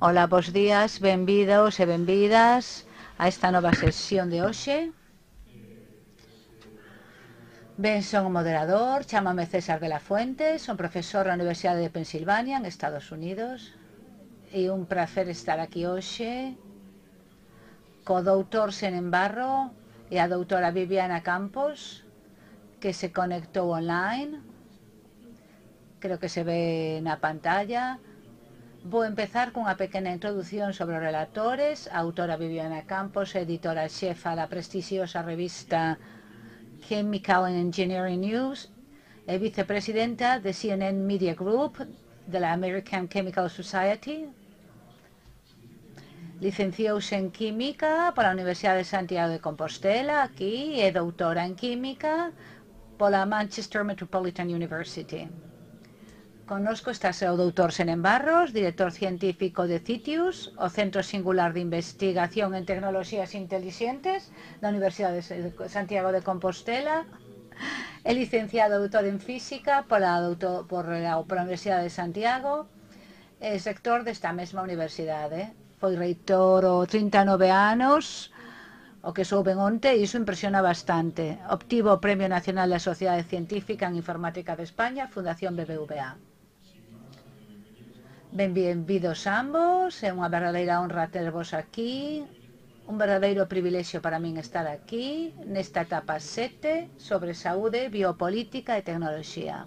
Ola, bos días, benvidos e benvidas a esta nova sesión de hoxe. Ben, son o moderador, chámame César de la Fuente, son profesor na Universidade de Pensilvania, en Estados Unidos, e un prazer estar aquí hoxe co doutor Senen Barro e a doutora Viviana Campos, que se conectou online. Creo que se ve na pantalla. Vou empezar cunha pequena introdución sobre os relatores. A autora Viviana Campos, editora xefa da prestixiosa revista Chemical and Engineering News e vicepresidenta de CNN Media Group de la American Chemical Society. Licenciouse en Química pola Universidade de Santiago de Compostela, aquí, e doutora en Química pola Manchester Metropolitan University. Connosco está o doutor Senen Barros, director científico de CITIUS, o Centro Singular de Investigación en Tecnoloxías Intelixentes da Universidade de Santiago de Compostela, é licenciado doutor en Física pola Universidade de Santiago, é sector desta mesma universidade. Foi reitor o 39 anos, o que souben onte, e iso impresiona bastante. Obtivo o Premio Nacional da Sociedade Científica en Informática de España, Fundación BBVA. Benvidos ambos, é unha verdadeira honra tervos aquí, un verdadeiro privilexio para min estar aquí, nesta etapa 7, sobre saúde, biopolítica e tecnoloxía.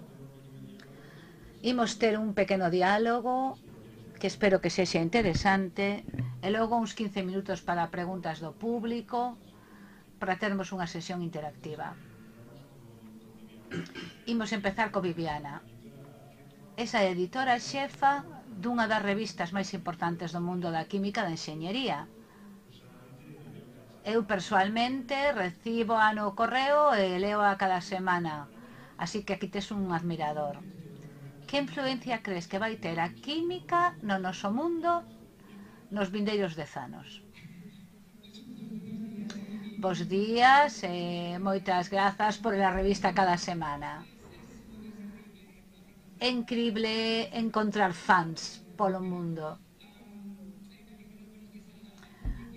Imos ter un pequeno diálogo, que espero que sexa interesante, e logo uns 15 minutos para preguntas do público, para termos unha sesión interactiva. Imos empezar co Viviana. Esa editora xefa dunha das revistas máis importantes do mundo da química da enxeñería. Eu persoalmente recibo no correo e leo a cada semana, así que aquí tes un admirador. Que influencia crees que vai ter a química no noso mundo nos vindeiros 10 anos? Bos días e moitas grazas por a revista cada semana. É increíble encontrar fans polo mundo.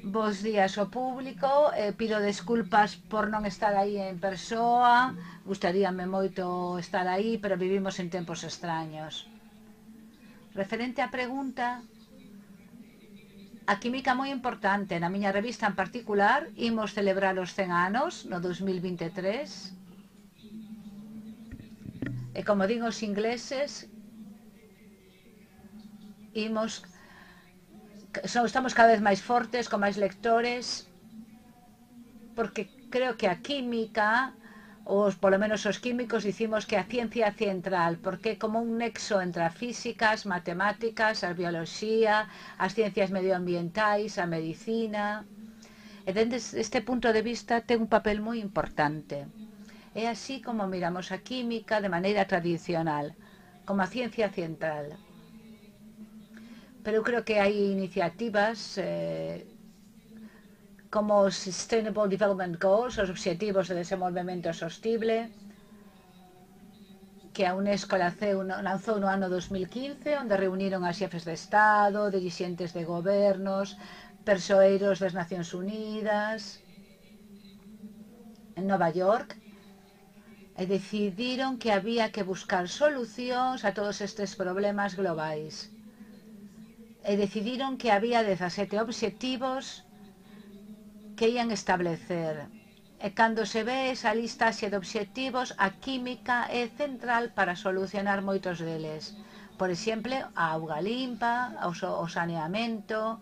Bos días ao público, pido desculpas por non estar aí en persoa, gustaríame moito estar aí, pero vivimos en tempos extraños. Referente á pregunta, a química moi importante, na miña revista en particular, imos celebrar os 100 anos no 2023, e como digo os ingleses, estamos cada vez máis fortes, con máis lectores, porque creo que a química, polo menos os químicos, dicimos que a ciencia central, porque é como un nexo entre a física, as matemáticas, a bioloxía, as ciencias medioambientais, a medicina, e dende este punto de vista ten un papel moi importante. É así como miramos a química de maneira tradicional, como a ciencia central. Pero eu creo que hai iniciativas como os Sustainable Development Goals, os Obxectivos de Desenvolvemento Sostible, que a UNESCO lanzou no ano 2015, onde reuniron a xefes de Estado, dirixentes de gobernos, persoeiros das Nacións Unidas, en Nova York, e decidiron que había que buscar solucións a todos estes problemas globais. E decidiron que había 17 obxectivos que ian establecer. E cando se ve esa listaxe de obxectivos, a química é central para solucionar moitos deles. Por exemplo, a auga limpa, o saneamento,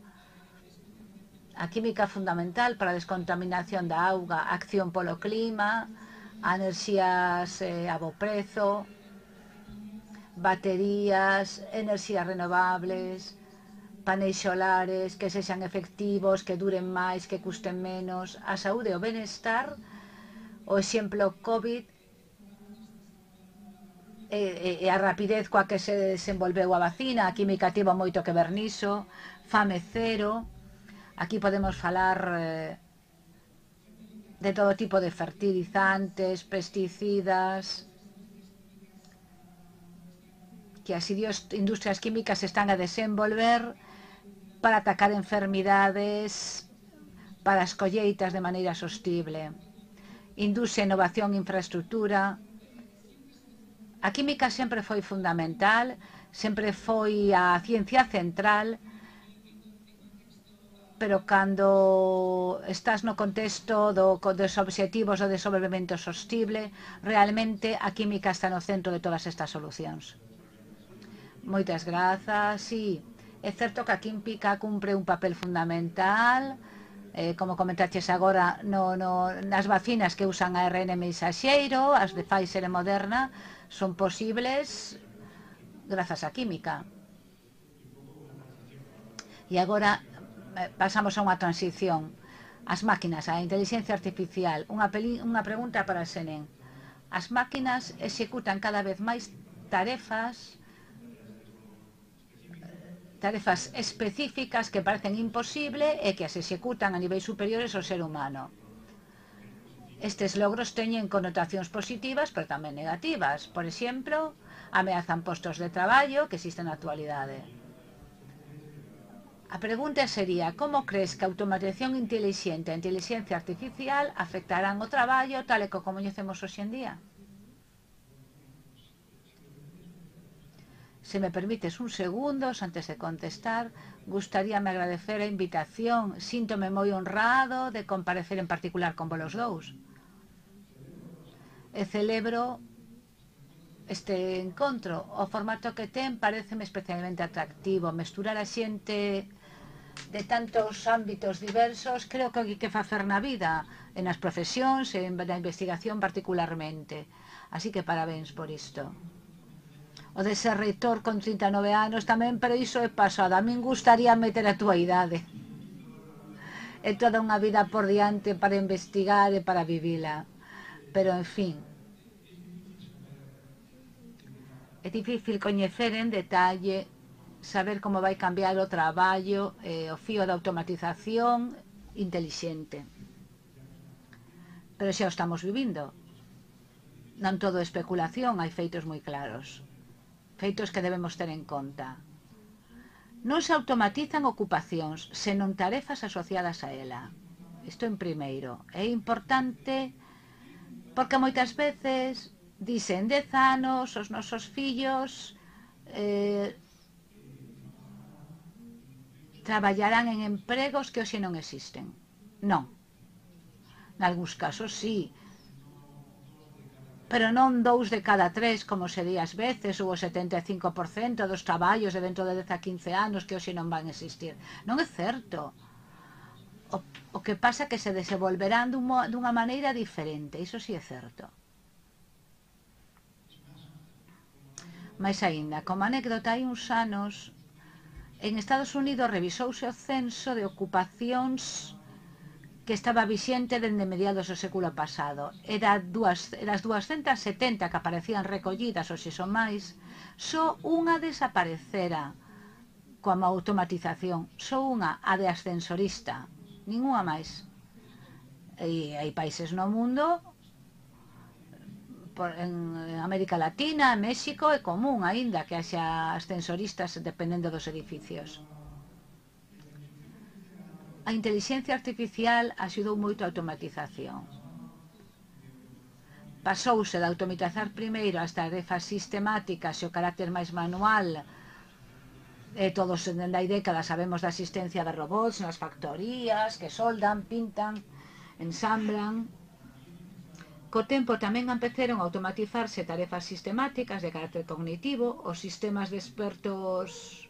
a química fundamental para a descontaminación da auga, a acción polo clima, a enerxías a bo prezo, baterías, enerxías renovables, paneis solares que sexan efectivos, que duren máis, que custen menos, a saúde e o benestar, o exemplo COVID e a rapidez coa que se desenvolveu a vacina, a química tivo moito que ver niso, fame cero, aquí podemos falar de todo tipo de fertilizantes, pesticidas, que as industrias químicas están a desenvolver para atacar enfermidades, para as colleitas de maneira sostible. Industria, innovación, infraestructura. A química sempre foi fundamental, sempre foi a ciencia central, pero cando estás no contexto dos obxectivos do desenvolvemento sostible, realmente a química está no centro de todas estas solucións. Moitas grazas. Sí, é certo que a química cumpre un papel fundamental, como comentaches agora, nas vacinas que usan ARN mensaxeiro, as de Pfizer e Moderna, son posibles grazas á química. E agora pasamos a unha transición. As máquinas, a inteligencia artificial. Unha pregunta para Senen. As máquinas executan cada vez máis tarefas específicas que parecen imposible e que as executan a niveis superiores ao ser humano. Estes logros teñen connotacións positivas, pero tamén negativas. Por exemplo, ameazan postos de traballo que existen na actualidade. A pregunta sería, como crees que a automatización inteligente e a inteligencia artificial afectarán o traballo tal e como coñecemos hoxe en día? Se me permites un segundos antes de contestar, gustaríame agradecer a invitación. Síntome moi honrado de comparecer en particular con vos dous. E celebro este encontro. O formato que ten pareceme especialmente atractivo. Mesturar a xente de tantos ámbitos diversos, creo que hai que facer na vida, en as profesións e na investigación particularmente. Así que parabéns por isto. O de ser reitor con 39 anos tamén, pero iso é pasado. A min gustaría meter a túa idade. É toda unha vida por diante para investigar e para vivila. Pero, en fin, é difícil coñecer en detalle, saber como vai cambiar o traballo, o fío da automatización intelixente. Pero xa o estamos vivindo. Non todo é especulación, hai feitos moi claros. Feitos que debemos ter en conta. Non se automatizan ocupacións, senón tarefas asociadas a ela. Isto en primeiro. É importante porque moitas veces dicen 10 anos os nosos fillos traballarán en empregos que hoxe non existen. Non. Nalgúns casos sí, pero non 2 de cada 3, como se di ás veces, ou o 75% dos traballos de dentro de 10 a 15 anos que hoxe non van existir. Non é certo. O que pasa é que se desenvolverán dunha maneira diferente, iso sí é certo. Mais aínda, como anécdota, hai uns anos, en Estados Unidos revisouse o censo de ocupacións que estaba vixente dende mediados do século pasado. Eras 270 que aparecían recollidas, ou se son máis, só unha desaparecera coa automatización. Só unha, a de ascensorista. Ninguna máis. E hai países no mundo, en América Latina, en México, é común aínda que haxa ascensoristas dependendo dos edificios. A inteligencia artificial axudou moito a automatización. Pasouse de automatizar primeiro as tarefas sistemáticas e o carácter máis manual. Todos dende hai décadas sabemos da existencia de robots nas factorías que soldan, pintan, ensamblan. Co tempo tamén empezaron a automatizarse tarefas sistemáticas de carácter cognitivo, os sistemas de expertos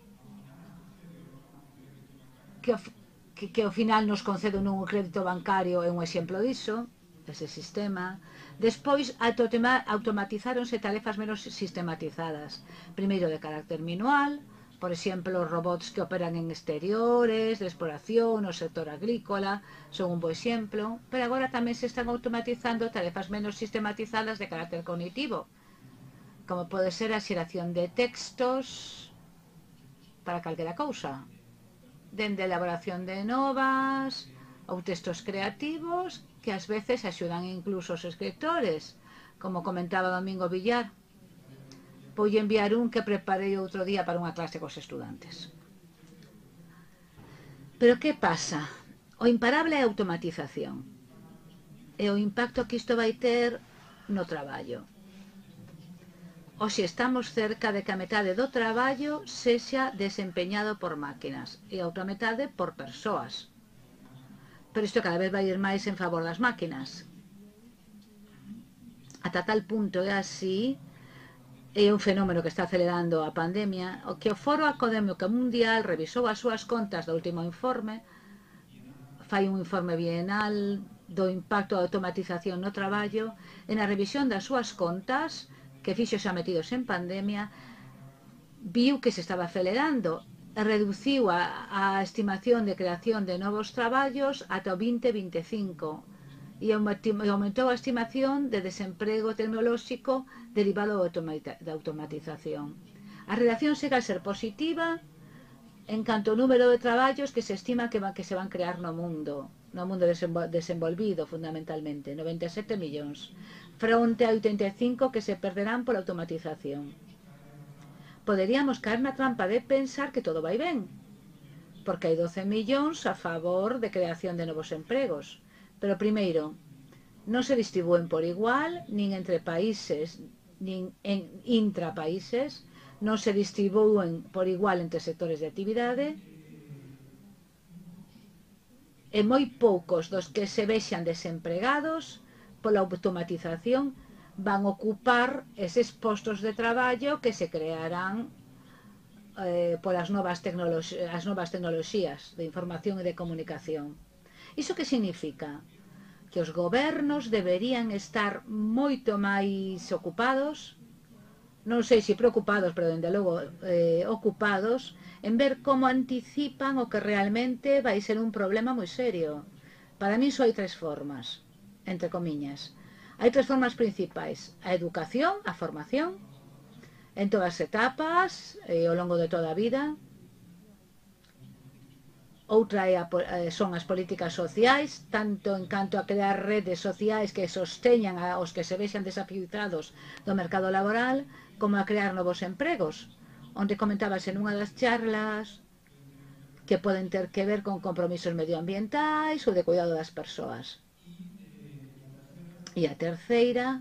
que ao final nos conceden un crédito bancario é un exemplo diso, ese sistema. Despois automatizáronse tarefas menos sistematizadas, primeiro de carácter manual, por exemplo, os robots que operan en exteriores, de exploración, no sector agrícola, son un bo exemplo, pero agora tamén se están automatizando tarefas menos sistematizadas de carácter cognitivo, como pode ser a xeración de textos para calquera cousa, dende a elaboración de novas ou textos creativos que ás veces axudan incluso os escritores, como comentaba Domingo Villar. Vou enviar un que preparei outro día para unha clase cos estudantes. Pero que pasa? O imparable é a automatización e o impacto que isto vai ter no traballo. Hoxe estamos cerca de que a metade do traballo sexa desempeñado por máquinas e a outra metade por persoas. Pero isto cada vez vai ir máis en favor das máquinas. Ata tal punto é así, é un fenómeno que está acelerando a pandemia, o que o Foro Académico Mundial revisou as súas contas do último informe, fai un informe bienal do impacto da automatización no traballo, e na revisión das súas contas, que fixo xa metidos en pandemia, viu que se estaba acelerando e reduciu a estimación de creación de novos traballos ata o 2025 e aumentou a estimación de desemprego tecnolóxico derivado da automatización. A relación segue a ser positiva en canto ao número de traballos que se estima que se van crear no mundo desenvolvido fundamentalmente, 97 millóns, fronte a 85 que se perderán pola automatización. Poderíamos caer na trampa de pensar que todo vai ben, porque hai 12 millóns a favor de creación de novos empregos. Pero primeiro, non se distribúen por igual, nin entre países, nin en intrapaíses, non se distribúen por igual entre sectores de actividade, e moi poucos dos que se vexan desempregados pola automatización van ocupar eses postos de traballo que se crearán polas novas tecnoloxías de información e de comunicación. Iso que significa? Que os gobernos deberían estar moito máis ocupados, non sei se preocupados, pero dende logo ocupados, en ver como anticipan o que realmente vai ser un problema moi serio. Para mí só hai tres formas, entre comiñas. Hai tres formas principais: a educación, a formación, en todas as etapas, ao longo de toda a vida. Outra son as políticas sociais, tanto en canto a crear redes sociais que sosteñan aos que se vexan desafiados do mercado laboral, como a crear novos empregos, onde comentabas en unha das charlas que poden ter que ver con compromisos medioambientais ou de cuidado das persoas. E a terceira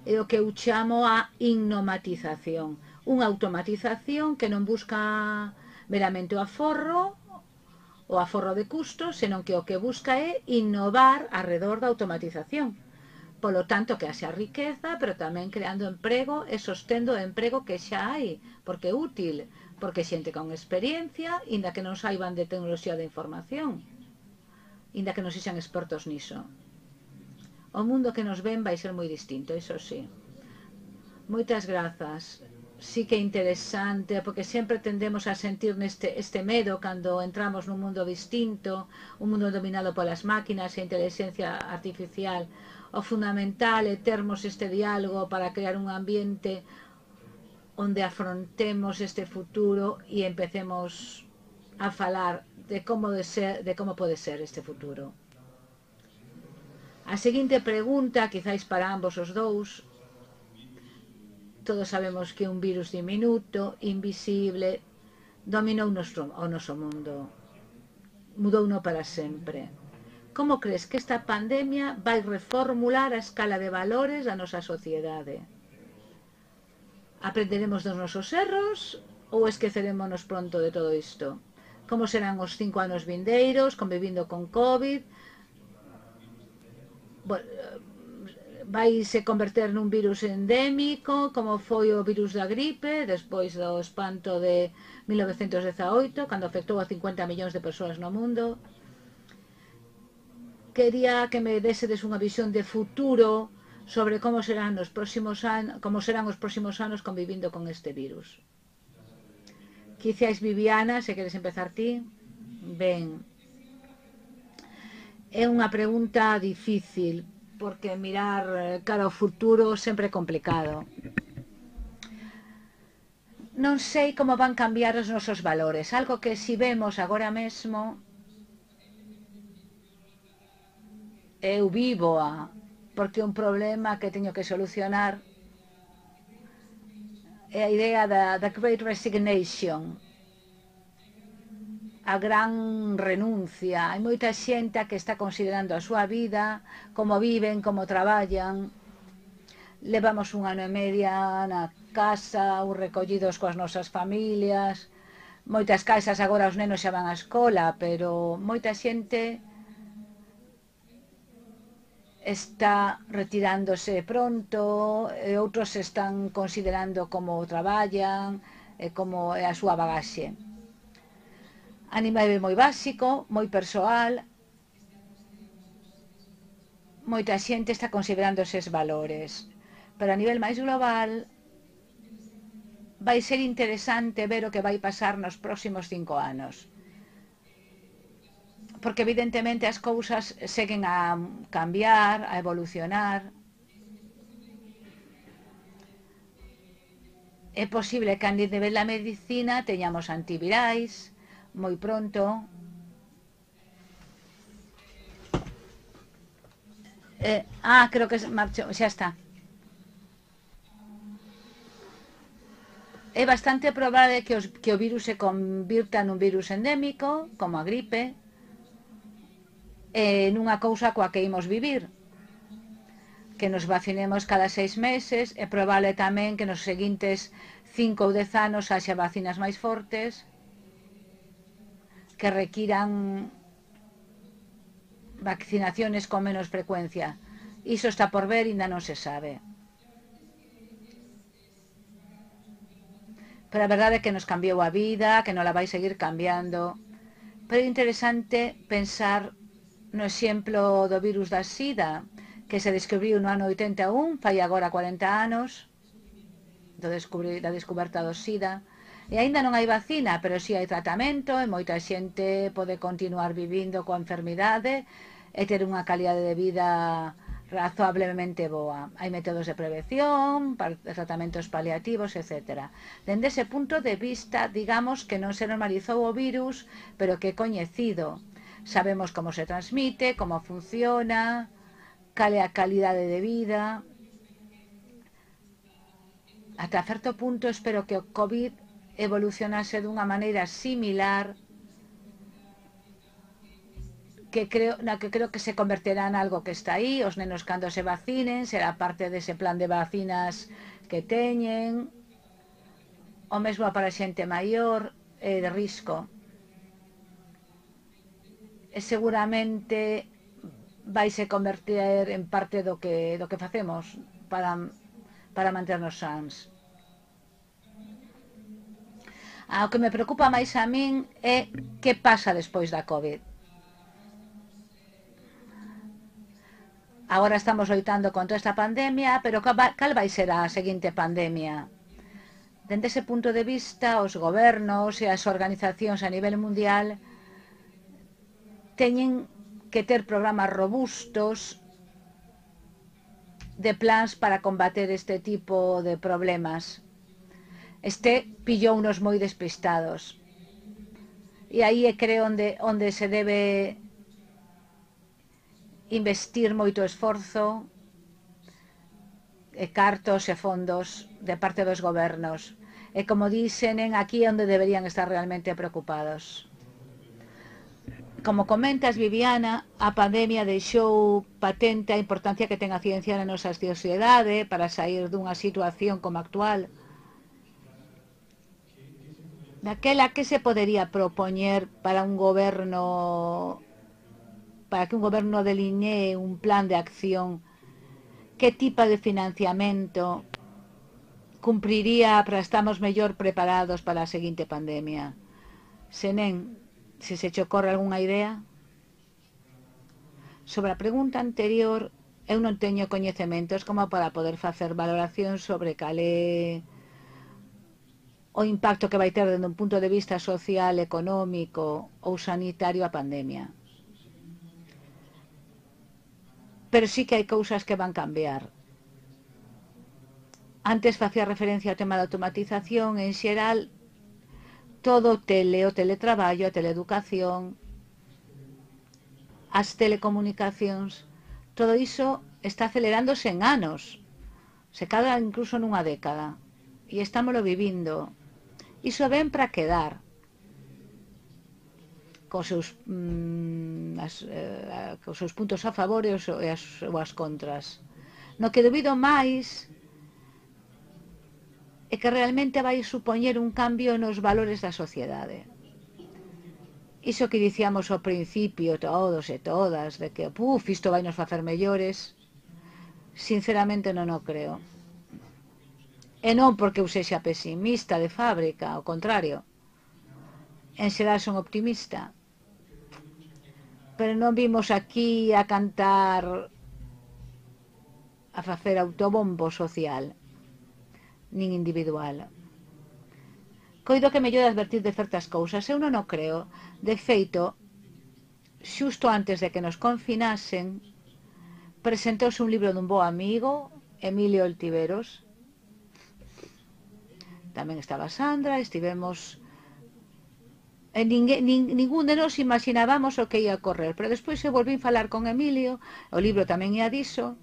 é o que eu chamo a innomatización, unha automatización que non busca meramente o aforro de custos, senón que o que busca é innovar arredor da automatización. Polo tanto, que haxa riqueza, pero tamén creando emprego e sostendo o emprego que xa hai, porque é útil, porque xente con experiencia, inda que non saiban de tecnoloxía de información, inda que non sexan expertos niso. O mundo que nos ven vai ser moi distinto, iso sí. Moitas grazas. Sí que é interesante, porque sempre tendemos a sentir este medo cando entramos nun mundo distinto, un mundo dominado polas máquinas e a inteligencia artificial. O fundamental é termos este diálogo para crear un ambiente onde afrontemos este futuro e empecemos a falar de como pode ser este futuro. A seguinte pregunta, quizáis para ambos os dous. Todos sabemos que un virus diminuto, invisible, dominou o noso mundo, mudouno para sempre. Como crees que esta pandemia vai reformular a escala de valores da nosa sociedade? Aprenderemos dos nosos erros ou esquecerémonos pronto de todo isto? Como serán os 5 anos vindeiros, convivindo con COVID? Vai se converter nun virus endémico, como foi o virus da gripe, despois do espanto de 1918, cando afectou a 50 millóns de persoas no mundo. Quería que me desedes unha visión de futuro sobre como serán os próximos anos convivindo con este virus. Quizás Viviana, se queres empezar ti. Ben, é unha pregunta difícil, porque mirar cara ao futuro sempre é complicado. Non sei como van cambiar os nosos valores, algo que si vemos agora mesmo, eu vívoa, porque un problema que teño que solucionar é a idea da Great Resignation. a gran renuncia. Hai moita xente que está considerando a súa vida, como viven, como traballan. Levamos un ano e media na casa, ou recollidos coas nosas familias. Moitas casas agora os nenos xa van á escola, pero moita xente está retirándose pronto, e outros están considerando como traballan, como é a súa bagaxe. A nivel moi básico, moi persoal, moita xente está considerando eses valores. Pero a nivel máis global, vai ser interesante ver o que vai pasar nos próximos 5 anos. Porque evidentemente as cousas seguen a cambiar, a evolucionar. É posible que a nivel da medicina teñamos antivirais moi pronto. Creo que marchou, xa está. É bastante probable que o virus se convirta nun virus endémico, como a gripe, nunha cousa coa que imos vivir. Que nos vacinemos cada 6 meses, é probable tamén que nos seguintes 5 ou 10 anos haxa vacinas máis fortes, que requiran vaccinaciones con menos frecuencia. Iso está por ver e ainda non se sabe. Pero a verdade é que nos cambiou a vida, que non la vai seguir cambiando. Pero é interesante pensar no exemplo do virus da SIDA, que se descubriu no ano 81, fai agora 40 anos, da descoberta do SIDA. E aínda non hai vacina, pero si hai tratamento, e moita xente pode continuar vivindo coa enfermidade e ter unha calidade de vida razoablemente boa. Hai métodos de prevención, tratamentos paliativos, etc. Dende ese punto de vista, digamos que non se normalizou o virus, pero que é coñecido. Sabemos como se transmite, como funciona, cal é a calidade de vida. Ata certo punto espero que o COVID evolucionase dunha maneira similar, na que creo que se converterá en algo que está aí. Os nenos cando se vacinen será parte dese plan de vacinas que teñen, o mesmo para xente maior de risco. E seguramente vai se converter en parte do que facemos para manternos sans. O que me preocupa máis a min é que pasa despois da COVID. Agora estamos loitando contra esta pandemia, pero cal vai ser a seguinte pandemia? Dende ese punto de vista, os gobernos e as organizacións a nivel mundial teñen que ter programas robustos de plans para combater este tipo de problemas. Pillounos moi despistados. E aí creo onde se debe investir moito esforzo, cartos e fondos de parte dos gobernos. E como dicen, aquí é onde deberían estar realmente preocupados. Como comentas, Viviana, a pandemia deixou patente a importancia que ten a ciencia na nosa sociedade para sair dunha situación como actual. Daquela que se podería propoñer para un goberno, para que un goberno delinee un plan de acción? Que tipo de financiamento cumpriría para estarmos mellor preparados para a seguinte pandemia? Senén, se che ocorre algunha idea? Sobre a pregunta anterior, eu non teño coñecementos como para poder facer valoración sobre cal é o impacto que vai ter dende un punto de vista social, económico ou sanitario a pandemia. Pero sí que hai cousas que van cambiar. Antes facía referencia ao tema da automatización, en xeral, todo o teletraballo, a teleeducación, as telecomunicacións, todo iso está acelerándose en anos, se cadra incluso nunha década, e estámoslo vivindo. Iso ven para quedar. cos seus puntos a favor e as contras. No que dubido máis é que realmente vai supoñer un cambio nos valores da sociedade. Iso que dicíamos ao principio todos e todas, de que isto vai nos facer mellores, sinceramente non o creo. E non porque eu sexa pesimista de fábrica, ao contrario. En xeral son optimista. Pero non vimos aquí a cantar, a facer autobombo social, nin individual. Coido que mellor advertir de certas cousas, eu non o creo. De feito, xusto antes de que nos confinasen, presentouse un libro dun bo amigo, Emilio Oltiveros. Tamén estaba Sandra, estivemos... Ningún de nós imaginábamos o que ia a correr, pero despois eu volvín falar con Emilio, o libro tamén ia diso,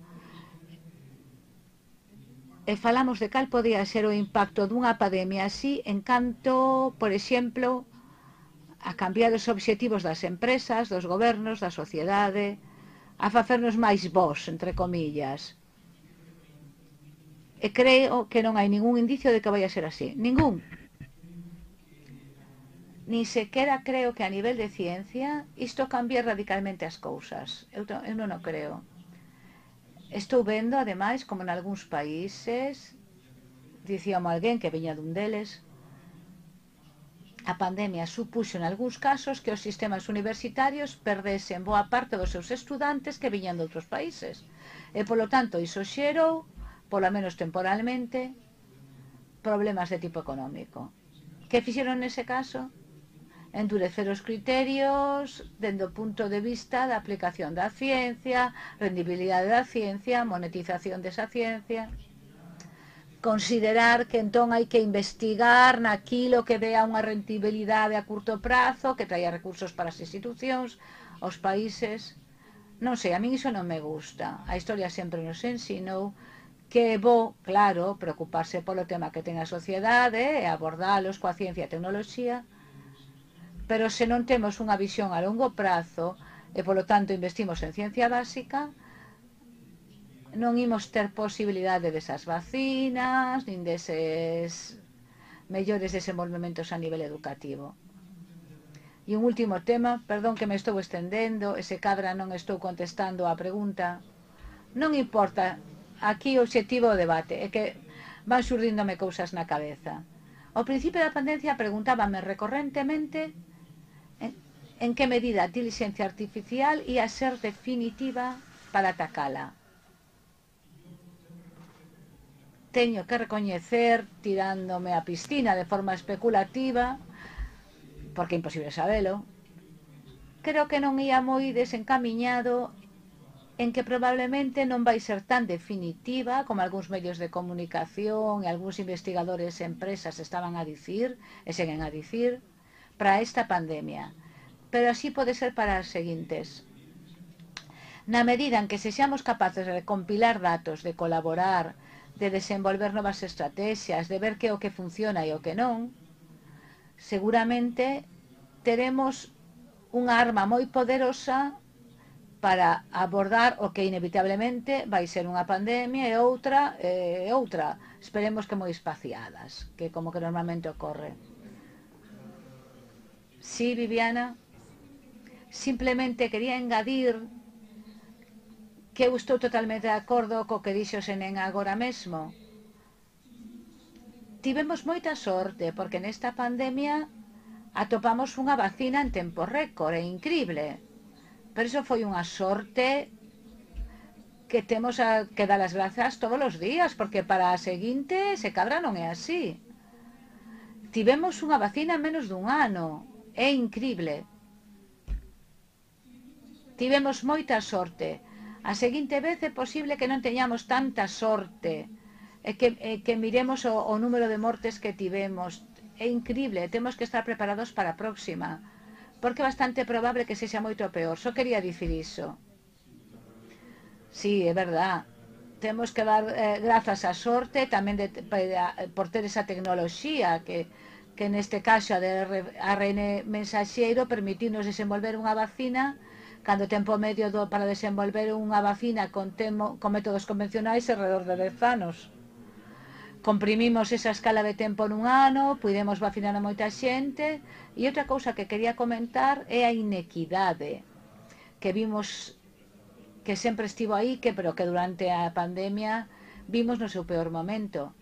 e falamos de cal podía ser o impacto dunha pandemia así en canto, por exemplo, a cambiar os obxectivos das empresas, dos gobernos, da sociedade, a facernos máis vós, entre comillas. E creo que non hai ningún indicio de que vai a ser así. Ningún. Ni sequera creo que a nivel de ciencia isto cambie radicalmente as cousas. Eu non o creo. Estou vendo, ademais, como en algúns países, dicíamos alguén que viña dun deles, a pandemia supuxo en algúns casos que os sistemas universitarios perdesen boa parte dos seus estudantes que viñan de outros países. E, polo tanto, iso xerou, polo menos temporalmente, problemas de tipo económico. Que fixeron nese caso? Endurecer os criterios dende o punto de vista da aplicación da ciencia, rendibilidade da ciencia, monetización desa ciencia. Considerar que entón hai que investigar naquilo que dea unha rendibilidade a curto prazo, que traia recursos para as institucións, os países. Non sei, a min iso non me gusta. A historia sempre nos ensinou que é bo, claro, preocuparse polo tema que ten a sociedade e abordalos coa ciencia e a tecnoloxía, pero se non temos unha visión a longo prazo e, polo tanto, investimos en ciencia básica, non imos ter posibilidade desas vacinas, nin deses mellores desenvolvementos a nivel educativo. E un último tema, perdón que me estou estendendo, e se cadra non estou contestando a pregunta, non importa, aquí o obxectivo do debate é que van xurdíndome cousas na cabeza. Ao principio da pandemia preguntábame recorrentemente en que medida a inteligencia artificial ia ser definitiva para atacala. Teño que recoñecer, tirándome a piscina de forma especulativa, porque é imposible sabelo, creo que non ia moi desencamiñado en que probablemente non vai ser tan definitiva como algúns medios de comunicación e algúns investigadores e empresas estaban a dicir, e seguen a dicir, para esta pandemia. Pero así pode ser para as seguintes. Na medida en que sexamos capaces de compilar datos, de colaborar, de desenvolver novas estrategias, de ver que o que funciona e o que non, seguramente teremos unha arma moi poderosa para abordar o que inevitablemente vai ser unha pandemia e outra, esperemos que moi espaciadas, que como que normalmente ocorre. Sí, Viviana? Simplemente quería engadir que eu estou totalmente de acordo co que dixo Senén agora mesmo. Tivemos moita sorte porque nesta pandemia atopamos unha vacina en tempo récord, é incrible. Pero iso foi unha sorte que temos que dar as grazas todos os días, porque para a seguinte se cadra non é así. Tivemos unha vacina en menos dun ano, é incrible. Tivemos moita sorte. A seguinte vez é posible que non teñamos tanta sorte e que miremos o número de mortes que tivemos. É incrible, temos que estar preparados para a próxima, porque é bastante probable que sexa moito peor. Só quería dicir iso. Sí, é verdad. Temos que dar grazas á sorte tamén por ter esa tecnoloxía que que neste caso a de ARN mensaxeiro permitirnos desenvolver unha vacina cando o tempo medio para desenvolver unha vacina con métodos convencionais é alrededor de 10 anos. Comprimimos esa escala de tempo nun ano, pudemos vacinar a moita xente, e outra cousa que quería comentar é a inequidade que vimos que sempre estivo aí, pero que durante a pandemia vimos no seu peor momento.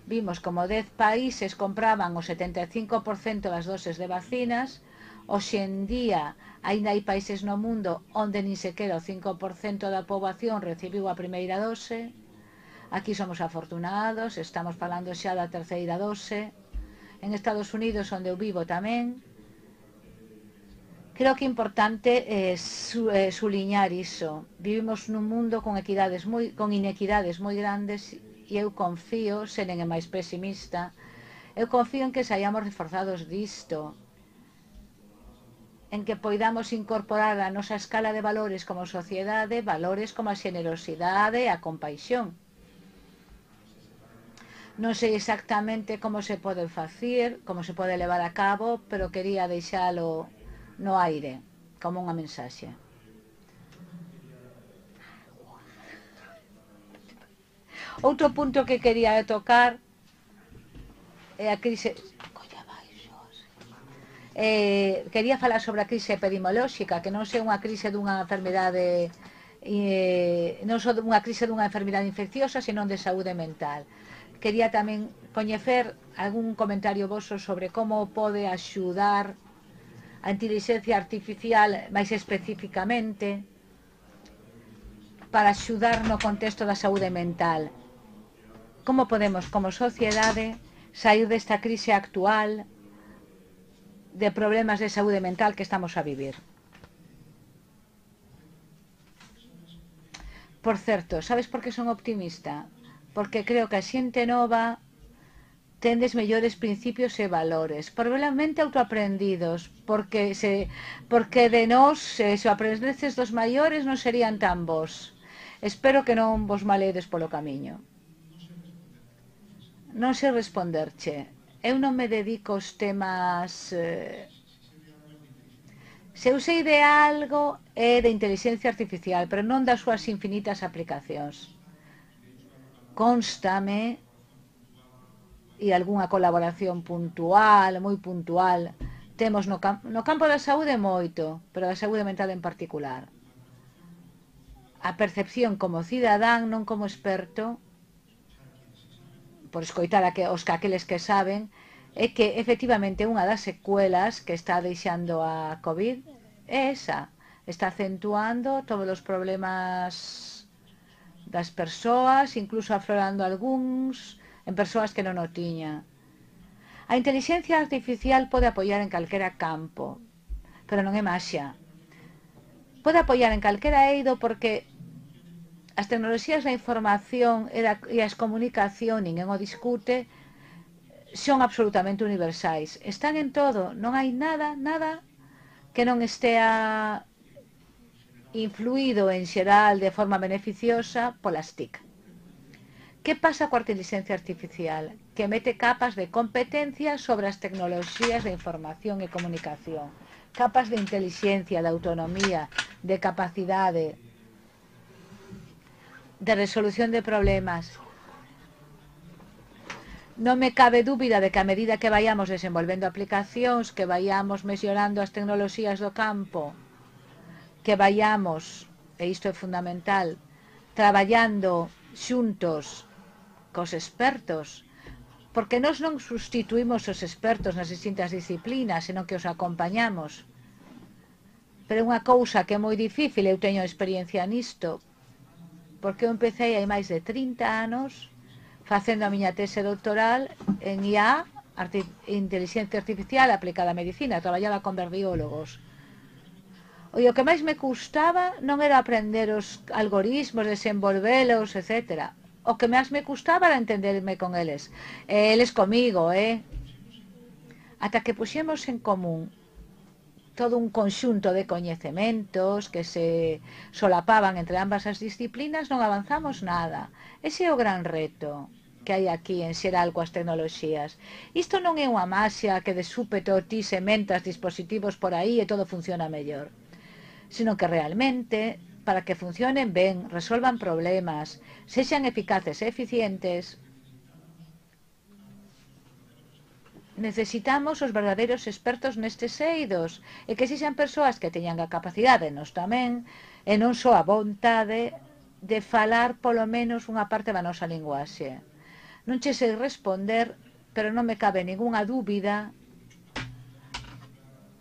Vimos como 10 países compraban o 75% das doses de vacinas. Hoxe en día aínda hai países no mundo onde nin sequera o 5% da poboación recibiu a primeira dose. Aquí somos afortunados, estamos falando xa da terceira dose. En Estados Unidos, onde eu vivo tamén. Creo que é importante suliñar iso. Vivimos nun mundo con inequidades moi grandes e eu confío, se non é máis pesimista, eu confío en que saíamos reforzados disto, en que poidamos incorporar a nosa escala de valores como sociedade, valores como a xenerosidade e a compaixón. Non sei exactamente como se pode facer, como se pode levar a cabo, pero quería deixalo no aire, como unha mensaxe. Outro punto que quería tocar é a crise... quería falar sobre a crise epidemiolóxica, que non é unha crise dunha enfermidade, non só unha crise dunha enfermidade infecciosa, senón de saúde mental. Quería tamén coñecer algún comentario voso sobre como pode axudar a inteligencia artificial máis especificamente para axudar no contexto da saúde mental. Como podemos, como sociedade, sair desta crise actual de problemas de saúde mental que estamos a vivir. Por certo, sabes por que son optimista? Porque creo que a xente nova tendes mellores principios e valores, probablemente autoaprendidos, porque de nós, se o aprendeces dos maiores, non serían tan bons. Espero que non vos maledes polo camiño. Non sei responderche. Eu non me dedico aos temas... Se eu sei de algo é de inteligencia artificial, pero non das súas infinitas aplicacións. Constame e algunha colaboración puntual, moi puntual, temos no campo da saúde moito, pero da saúde mental en particular. A percepción como cidadán, non como experto, por escoitar aqueles que saben, é que efectivamente unha das secuelas que está deixando a COVID é esa. Está acentuando todos os problemas das persoas, incluso aflorando algúns en persoas que non o tiña. A inteligencia artificial pode apoiar en calquera campo, pero non é maxia. Pode apoiar en calquera eido porque as tecnoloxías da información e as comunicación, ninguén o discute, son absolutamente universais. Están en todo, non hai nada que non estea influído en xeral de forma beneficiosa polas TIC. Que pasa coa inteligencia artificial? Que mete capas de competencia sobre as tecnoloxías de información e comunicación, capas de inteligencia, de autonomía, de capacidade, de resolución de problemas. Non me cabe dúbida de que a medida que vayamos desenvolvendo aplicacións, que vayamos mellorando as tecnoloxías do campo, que vayamos, e isto é fundamental, traballando xuntos cos expertos, porque nós non sustituímos os expertos nas distintas disciplinas, senón que os acompañamos. Pero unha cousa que é moi difícil, eu teño experiencia nisto, porque eu empecé hai máis de 30 anos facendo a miña tese doctoral en IA, inteligencia artificial aplicada á medicina, traballaba con verbiólogos. E o que máis me custaba non era aprender os algoritmos, desenvolvelos, etc. O que máis me custaba era entenderme con eles. Eles comigo, ata que puxemos en común todo un conxunto de coñecementos que se solapaban entre ambas as disciplinas, non avanzamos nada. Ese é o gran reto, que hai aquí en xeral coas tecnoloxías. Isto non é unha maxia que de súpeto ti sementas dispositivos por aí e todo funciona mellor, sino que realmente, para que funcionen ben, resolvan problemas, sexan eficaces e eficientes, necesitamos os verdadeiros expertos nestes eidos e que sexan persoas que teñan a capacidade, nos tamén, e non só a vontade de falar polo menos unha parte da nosa linguaxe. Non che sei responder, pero non me cabe ninguna dúbida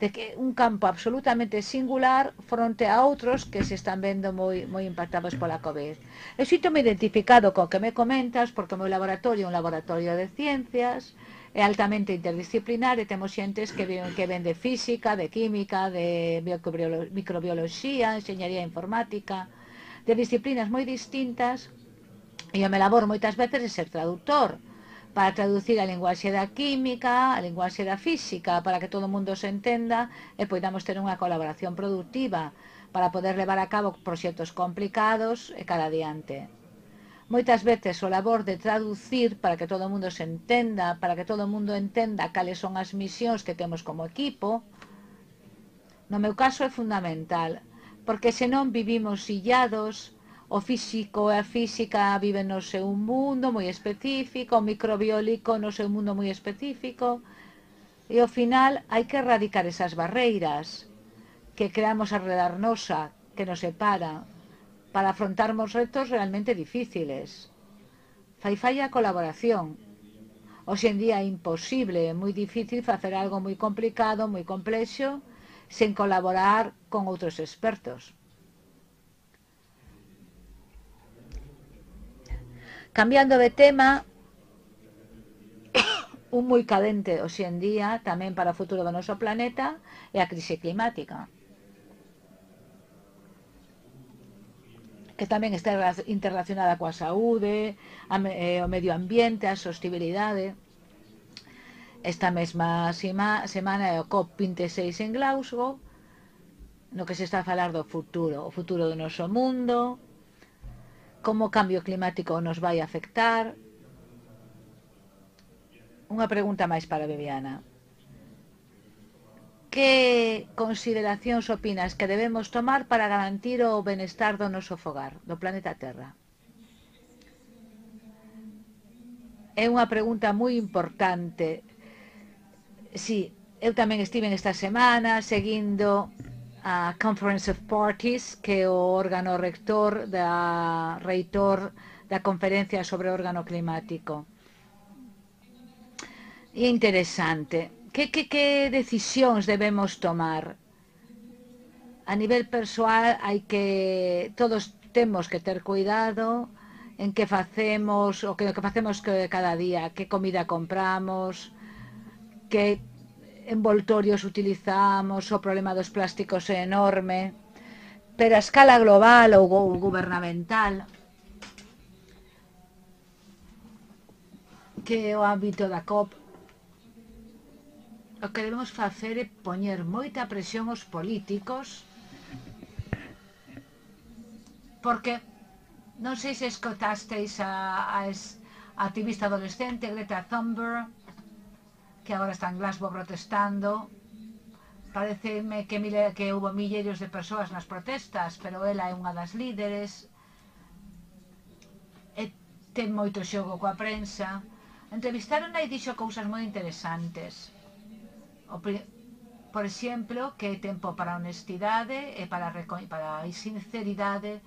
de que un campo absolutamente singular fronte a outros que se están vendo moi impactados pola COVID. Eu sinto-me identificado co que me comentas porque o meu laboratorio é un laboratorio de ciencias, é altamente interdisciplinar e temos xentes que ven de física, de química, de microbioloxía, enxeñería informática, de disciplinas moi distintas, e o meu labor moitas veces é ser traductor, para traducir a linguaxe da química, a linguaxe da física, para que todo o mundo se entenda e podamos ter unha colaboración productiva para poder levar a cabo proxectos complicados e cara adiante. Moitas veces o labor de traducir para que todo o mundo se entenda, para que todo o mundo entenda cales son as misións que temos como equipo, no meu caso é fundamental, porque senón vivimos illados. O físico e a física viven no seu mundo moi específico, o microbiólico no seu mundo moi específico, e ao final hai que erradicar esas barreiras que creamos alrededor nosa, que nos separa, para afrontarmos retos realmente difíciles. Fai falla a colaboración. Hoxe en día é imposible, é moi difícil facer algo moi complicado, moi complexo, sen colaborar con outros expertos. Cambiando de tema, un moi cadente hoxe en día tamén para o futuro do noso planeta é a crise climática, que tamén está interrelacionada coa saúde, o medio ambiente, a sostibilidade. Esta mesma semana é o COP26 en Glasgow, no que se está a falar do futuro, o futuro do noso mundo, como o cambio climático nos vai afectar. Unha pregunta máis para Viviana. Que consideracións opinas que debemos tomar para garantir o benestar do noso fogar, do planeta Terra? É unha pregunta moi importante. Sí, eu tamén estive esta semana seguindo a Conference of Parties, que é o órgano reitor da conferencia sobre o órgano climático. E é interesante. Que decisións debemos tomar? A nivel persoal hai que todos temos que ter cuidado en que facemos, o que facemos cada día, que comida compramos, que envoltorios utilizamos, o problema dos plásticos é enorme, pero a escala global ou gubernamental, que é o ámbito da COP, o que debemos facer é poñer moita presión aos políticos, porque non sei se escotasteis a activista adolescente Greta Thunberg, que agora está en Glasgow protestando. Pareceme que houve milleiros de persoas nas protestas, pero ela é unha das líderes e ten moito xogo coa prensa. Entrevistaron e dixo cousas moi interesantes. Por exemplo, que é tempo para a honestidade e para a sinceridade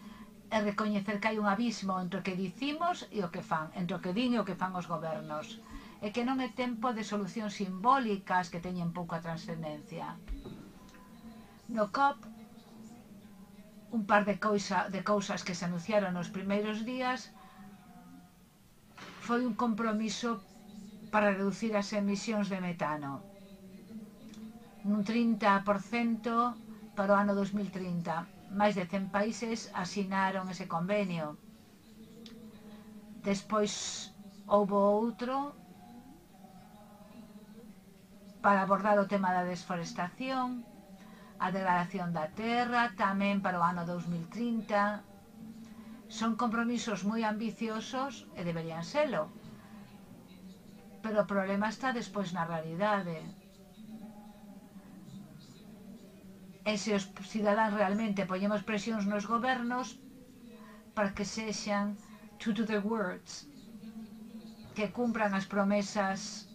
e recoñecer que hai un abismo entre o que dicimos e o que fan, entre o que din e o que fan os gobernos, e que non é tempo de solucións simbólicas que teñen pouca trascendencia. No COP, un par de cousas que se anunciaron nos primeiros días foi un compromiso para reducir as emisións de metano nun 30% para o ano 2030. Máis de 100 países asinaron ese convenio. Despois houve outro para abordar o tema da desforestación, a degradación da terra, tamén para o ano 2030. Son compromisos moi ambiciosos e deberían selo, pero o problema está despois na realidade. E se os cidadáns realmente poñemos presións nos gobernos para que sexan true to their words, que cumpran as promesas,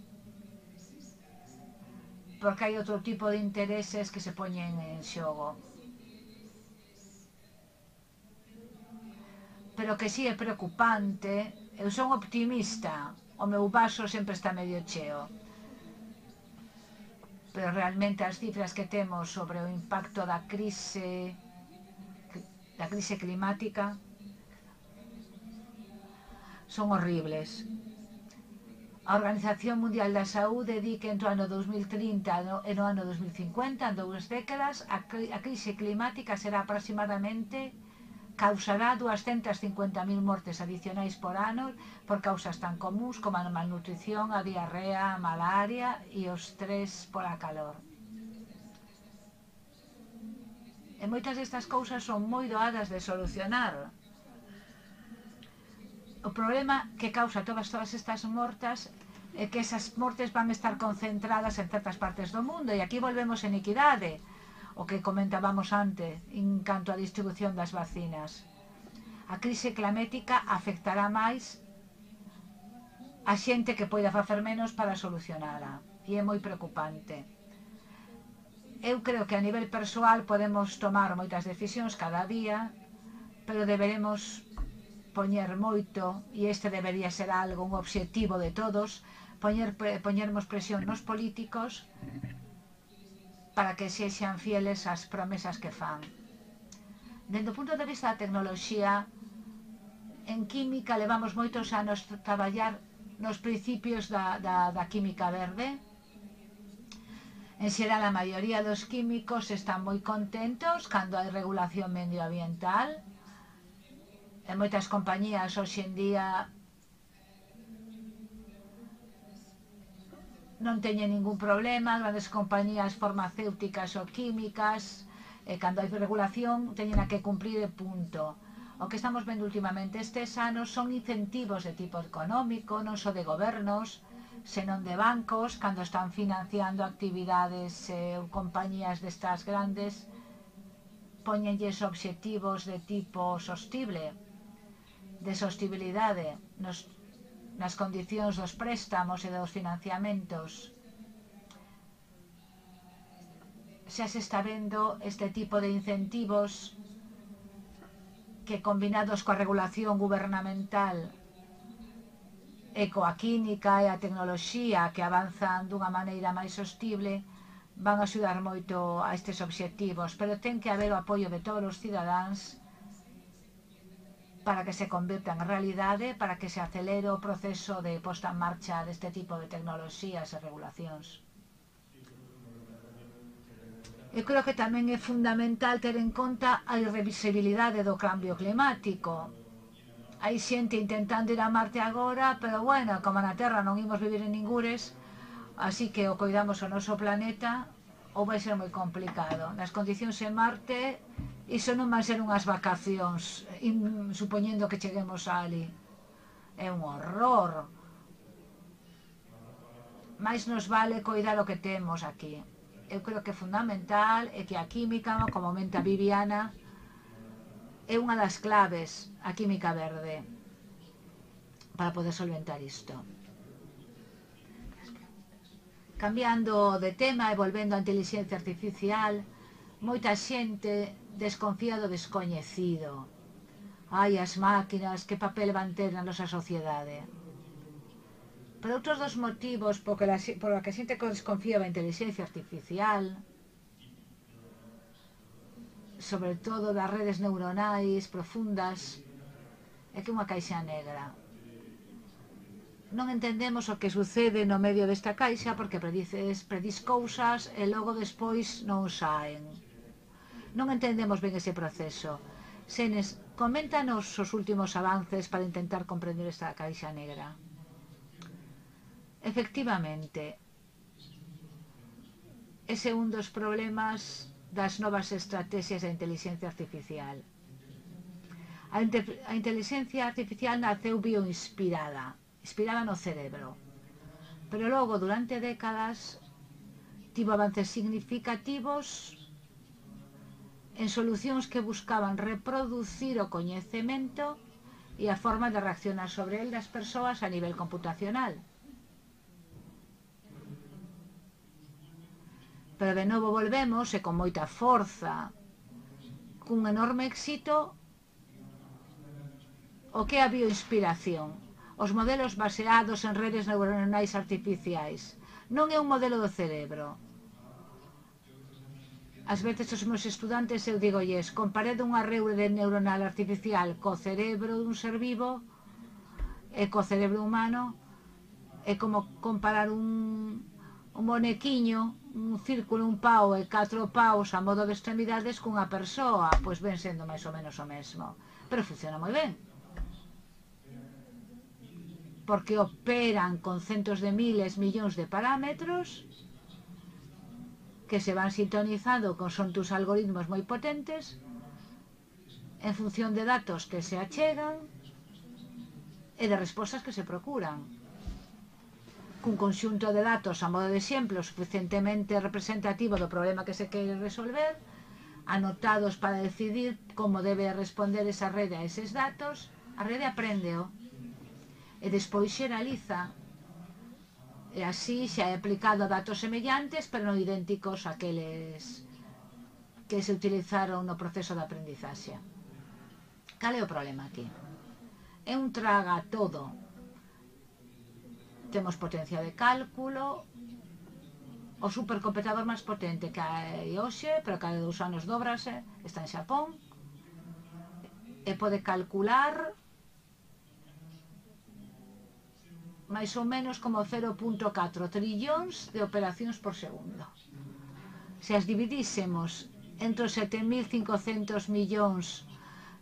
porque hai outro tipo de intereses que se poñen en xogo. Pero que sí é preocupante, eu son optimista, o meu vaso sempre está medio cheo, pero realmente as cifras que temos sobre o impacto da crise climática son horribles. A Organización Mundial da Saúde di que entre o ano 2030 e no ano 2050, en 2 décadas, a crise climática será aproximadamente causará 250.000 mortes adicionais por ano por causas tan comuns como a malnutrición, a diarrea, a malaria e o estrés pola calor. E moitas destas cousas son moi doadas de solucionar. O problema que causa todas estas mortas é que esas mortes van estar concentradas en certas partes do mundo, e aquí volvemos en equidade, o que comentábamos antes en canto á distribución das vacinas. A crise climática afectará máis a xente que poida facer menos para solucionala, e é moi preocupante. Eu creo que a nivel persoal podemos tomar moitas decisións cada día, pero deberemos poñer moito, e este debería ser algo, un obxectivo de todos, poñermos presión nos políticos para que sexan fieles ás promesas que fan. Dende o punto de vista da tecnoloxía, en química levamos moitos anos traballar nos principios da química verde. En xeral, a maioría dos químicos están moi contentos cando hai regulación medioambiental. E moitas compañías hoxe en día non teñen ningún problema, grandes compañías farmacéuticas ou químicas, e cando hai regulación teñen a que cumprir e punto. O que estamos vendo últimamente estes anos son incentivos de tipo económico, non só de gobernos, senón de bancos, cando están financiando actividades ou compañías destas grandes, poñenlles obxectivos de tipo sostible, de sostibilidade, nas condicións dos préstamos e dos financiamentos. Xa se está vendo este tipo de incentivos que, combinados coa regulación gubernamental e coa química e a tecnoloxía que avanzan dunha maneira máis sostible, van a axudar moito a estes obxectivos, pero ten que haber o apoio de todos os cidadáns para que se convirta en realidade, para que se acelere o proceso de posta en marcha deste tipo de tecnoloxías e regulacións. Eu creo que tamén é fundamental ter en conta a irreversibilidade do cambio climático. Hai xente intentando ir a Marte agora, pero bueno, como na Terra non imos vivir en ningures, así que o coidamos o noso planeta, ou vai ser moi complicado. Nas condicións en Marte, iso non van ser unhas vacacións, supoñendo que cheguemos ali. É un horror. Mais nos vale coidar o que temos aquí. Eu creo que é fundamental é que a química, como comenta Viviana, é unha das claves, a química verde, para poder solventar isto. Cambiando de tema e volvendo á inteligencia artificial, moita xente desconfía do descoñecido. Ai, as máquinas, que papel van ter na nosa sociedade? Pero outros dos motivos por que a xente desconfía da inteligencia artificial, sobre todo das redes neuronais profundas, é que é unha caixa negra. Non entendemos o que sucede no medio desta caixa porque predís cousas e logo despois non saen. Non entendemos ben ese proceso. Senes, coméntanos os últimos avances para intentar comprender esta caixa negra. Efectivamente, ese é un dos problemas das novas estrategias de inteligencia artificial. A inteligencia artificial naceu bioinspirada, inspirada no cerebro. pero logo, durante décadas, tivo avances significativos en solucións que buscaban reproducir o coñecemento e a forma de reaccionar sobre el das persoas a nivel computacional. Pero de novo volvemos, e con moita forza, cun enorme éxito, o que a bioinspiración, os modelos baseados en redes neuronais artificiais. Non é un modelo do cerebro. Ás veces os meus estudantes eu digolles, comparede unha rede neuronal artificial co cerebro dun ser vivo e co cerebro humano, é como comparar un bonequiño, un círculo, un pau e 4 paus a modo de extremidades cunha persoa, pois ven sendo máis ou menos o mesmo, pero funciona moi ben, porque operan con centos de miles, millóns de parámetros que se van sintonizando con tus algoritmos moi potentes en función de datos que se achegan e de respostas que se procuran. Cun conxunto de datos a modo de exemplo suficientemente representativo do problema que se quere resolver, anotados para decidir como debe responder esa rede a eses datos, a rede aprende-o e despois xeraliza. E así xa é aplicado a datos semellantes, pero non idénticos àqueles que se utilizaron no proceso de aprendizaxe. Cal é o problema aquí? É un traga todo. Temos potencia de cálculo, o supercomputador máis potente que hai hoxe, pero cada 2 anos dobrase, está en Xapón, e pode calcular máis ou menos como 0,4 trillóns de operacións por segundo. Se as dividísemos entre os 7.500 millóns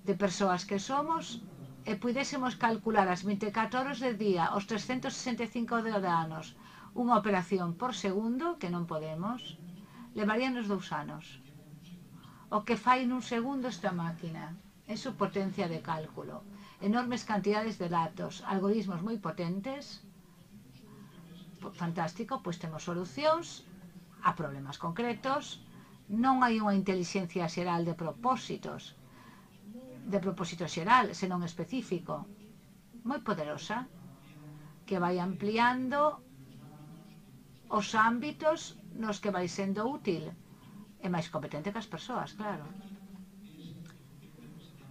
de persoas que somos e pudésemos calcular as 24 horas de día, os 365 de anos, unha operación por segundo, que non podemos, levaríanos 2 anos. O que fai nun segundo esta máquina é su potencia de cálculo. Enormes cantidades de datos, algoritmos moi potentes, fantástico, pois temos solucións a problemas concretos, non hai unha inteligencia xeral de propósito xeral, senón específico, moi poderosa, que vai ampliando os ámbitos nos que vai sendo útil, e máis competente que as persoas, claro.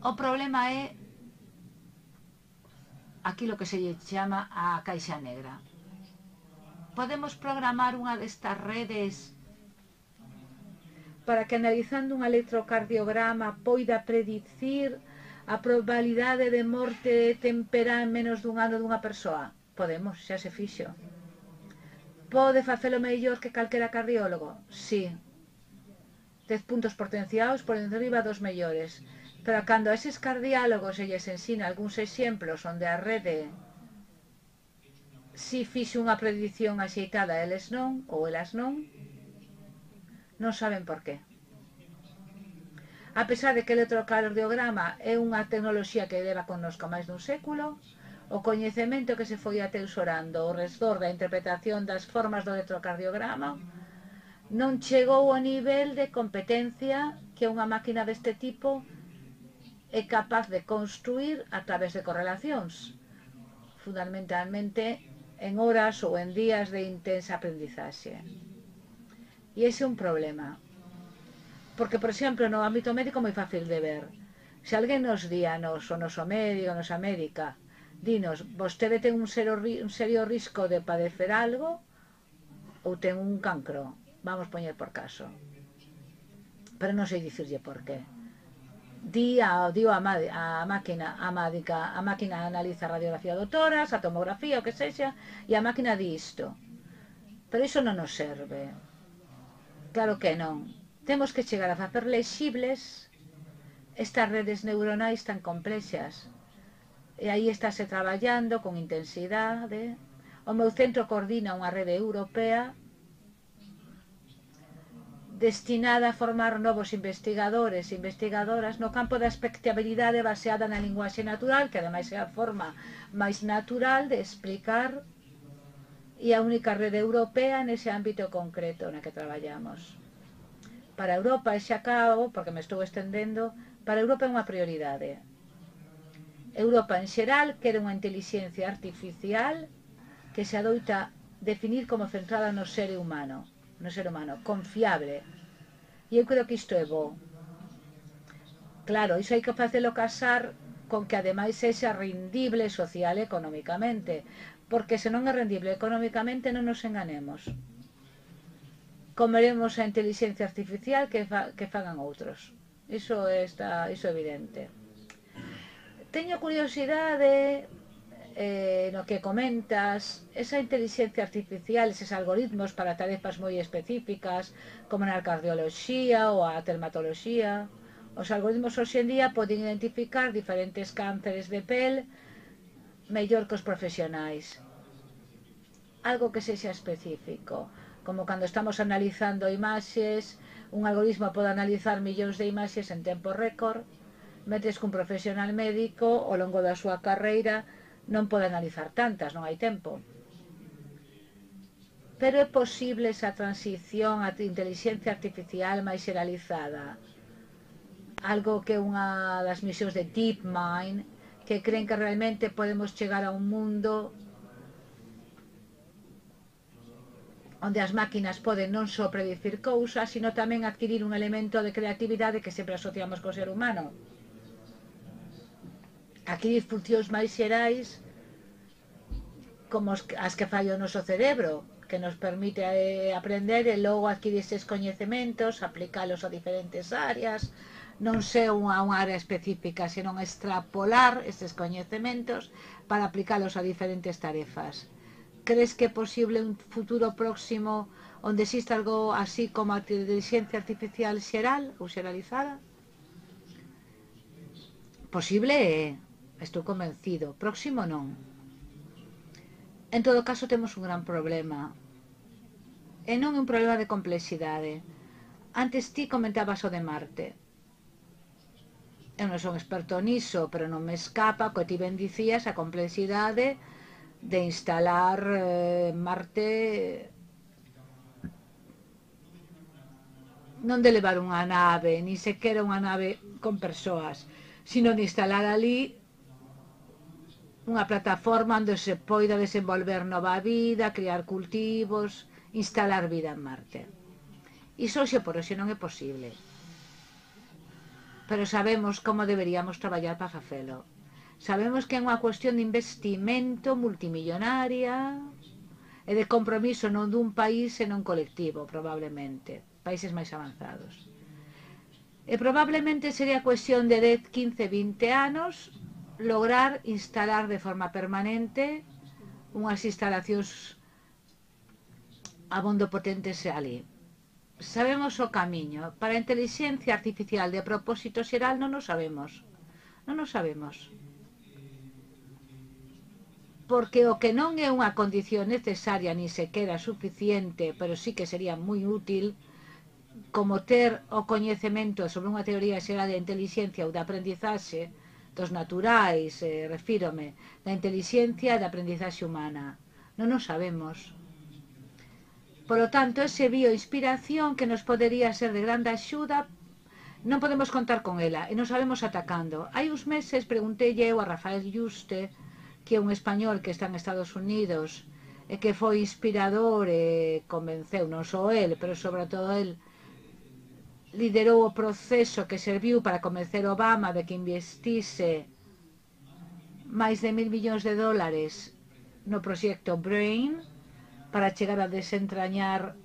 O problema é aquilo que se lle chama a caixa negra. Podemos programar unha destas redes para que, analizando un electrocardiograma, poida predicir a probabilidade de morte temperá en menos dun ano dunha persoa? Podemos, xa se fixo. Pode facelo mellor que calquera cardiólogo? Sí. 10 puntos potenciados por enriba dos mellores. Pero cando a eses cardiólogos se lles ensina algúns exemplos onde a rede si fixe unha predicción axeitada, eles non, ou elas non saben por qué. A pesar de que o electrocardiograma é unha tecnoloxía que leva connosco máis dun século, o coñecemento que se foi ateusorando ao redor da interpretación das formas do electrocardiograma non chegou ao nivel de competencia que unha máquina deste tipo é capaz de construir a través de correlacións, fundamentalmente en horas ou en días de intensa aprendizaxe. E ese é un problema. Porque, por exemplo, no ámbito médico é moi fácil de ver. Se alguén nos di a nos, o noso médico, a nosa médica, dinos, vostede ten un serio risco de padecer algo ou ten un cancro, vamos poñer por caso. Pero non sei dicirlle por qué. A máquina analiza a radiografía do tórax, a tomografía, o que sexa, e a máquina di isto. Pero iso non nos serve. Claro que non. Temos que chegar a facer lexibles estas redes neuronais tan complexas. E aí estáse traballando con intensidade. O meu centro coordina unha rede europea destinada a formar novos investigadores e investigadoras no campo da expectabilidade baseada na linguaxe natural, que ademais é a forma máis natural de explicar e a única rede europea nese ámbito concreto na que traballamos. Para Europa, e xa acabo, porque me estou estendendo, para Europa é unha prioridade. Europa en xeral quere unha inteligencia artificial que se adoita definir como centrada no ser humano, confiable. E eu creo que isto é bo. Claro, iso hai que facelo casar con que ademais sexa rendible social e económicamente, porque se non é rendible económicamente non nos enganemos. Comeremos a inteligencia artificial que fagan outros. Iso é evidente. Teño curiosidade no que comentas, esa inteligencia artificial, eses algoritmos para tarefas moi específicas, como na cardioloxía ou a dermatoloxía. Os algoritmos hoxe en día poden identificar diferentes cánceres de pel mellor que os profesionais. Algo que sexa específico, como cando estamos analizando imaxes, un algoritmo pode analizar millóns de imaxes en tempo récord, mentres que un profesional médico ao longo da súa carreira non pode analizar tantas, non hai tempo. Pero é posible esa transición á inteligencia artificial máis xeralizada. Algo que unha das misións de DeepMind, que creen que realmente podemos chegar a un mundo onde as máquinas poden non só predicir cousas, sino tamén adquirir un elemento de creatividade que sempre asociamos co ser humano. Adquirir funcións máis xerais como as que fai o noso cerebro, que nos permite aprender e logo adquirir estes coñecementos, aplicalos a diferentes áreas, non ser unha área específica, senón extrapolar estes coñecementos para aplicalos a diferentes tarefas. Crees que é posible un futuro próximo onde exista algo así como a inteligencia artificial xeral ou xeralizada? Posible é, estou convencido. Próximo non. En todo caso temos un gran problema. E non é un problema de complexidade. Antes ti comentabas o de Marte. Eu non son experto niso, pero non me escapa que ti ben dicías a complexidade de instalar Marte, non de levar unha nave, ni sequera unha nave con persoas, sino de instalar ali unha plataforma onde se poida desenvolver nova vida, criar cultivos, instalar vida en Marte. Iso xe por hoxe non é posible. Pero sabemos como deberíamos traballar para facelo. Sabemos que é unha cuestión de investimento multimillonaria e de compromiso non dun país senón colectivo, probablemente, países máis avanzados. E probablemente sería cuestión de 10, 15, 20 anos lograr instalar de forma permanente unhas instalacións abondo potentes ali. Sabemos o camiño. Para a inteligencia artificial de propósito xeral non o sabemos. Non o sabemos. Porque o que non é unha condición necesaria ni sequera suficiente, pero sí que sería moi útil, como ter o coñecemento sobre unha teoría xeral de inteligencia ou de aprendizaxe dos naturais, refírome, da inteligencia e da aprendizaxe humana. Non o sabemos. Por lo tanto, ese bioinspiración que nos podería ser de grande axuda, non podemos contar con ela e nos sabemos atacando. Hai uns meses preguntei eu a Rafael Yuste, que é un español que está en Estados Unidos e que foi inspirador e convenceu, non só el, pero sobre todo el liderou o proceso que serviu para convencer Obama de que investise máis de $1.000 millóns no proxecto BRAIN para chegar a desentrañar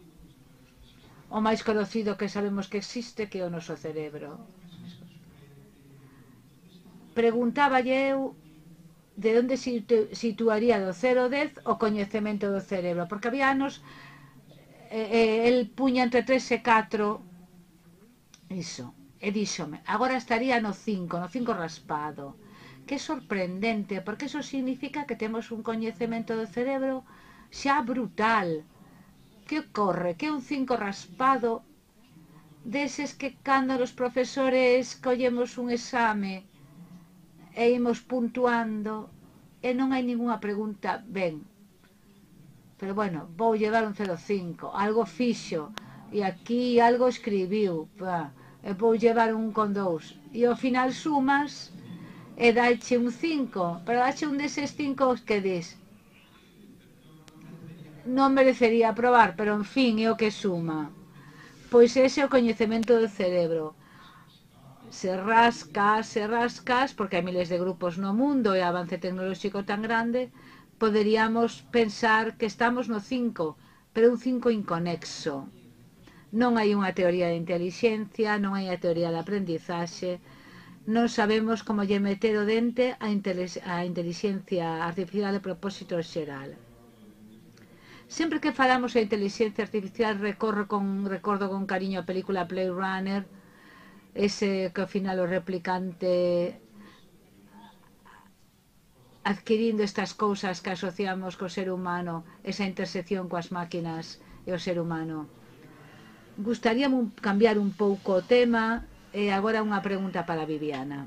o máis conocido que sabemos que existe, que é o noso cerebro. Preguntaba eu de onde situaría do 0 ao 10 o coñecemento do cerebro, porque había anos el puña entre 3 e 4 iso, e díxome, agora estaría no 5 raspado. Que sorprendente, porque iso significa que temos un coñecemento do cerebro xa brutal. Que ocorre? Que un 5 raspado deses que cando os profesores collemos un exame e imos puntuando e non hai ningunha pregunta ben. pero bueno, vou llevar un 0,5, algo fixo, e aquí algo escribiu, e vou llevar un con 2, e ao final sumas e dache un 5, pero dache un deses 5 que dis, non merecería aprobar, pero en fin, é o que suma. Pois ese é o coñecemento do cerebro. Se rascas, porque hai miles de grupos no mundo e avance tecnolóxico tan grande, poderíamos pensar que estamos no 5, pero un 5 inconexo. Non hai unha teoría de inteligencia, non hai a teoría de aprendizaxe, non sabemos como lle meter o dente a inteligencia artificial de propósito xeral. Sempre que falamos de inteligencia artificial recordo con cariño a película Blade Runner, ese que ao final o replicante adquirindo estas cousas que asociamos co ser humano, esa intersección coas máquinas e o ser humano. Gustaríame cambiar un pouco o tema e agora unha pregunta para Viviana.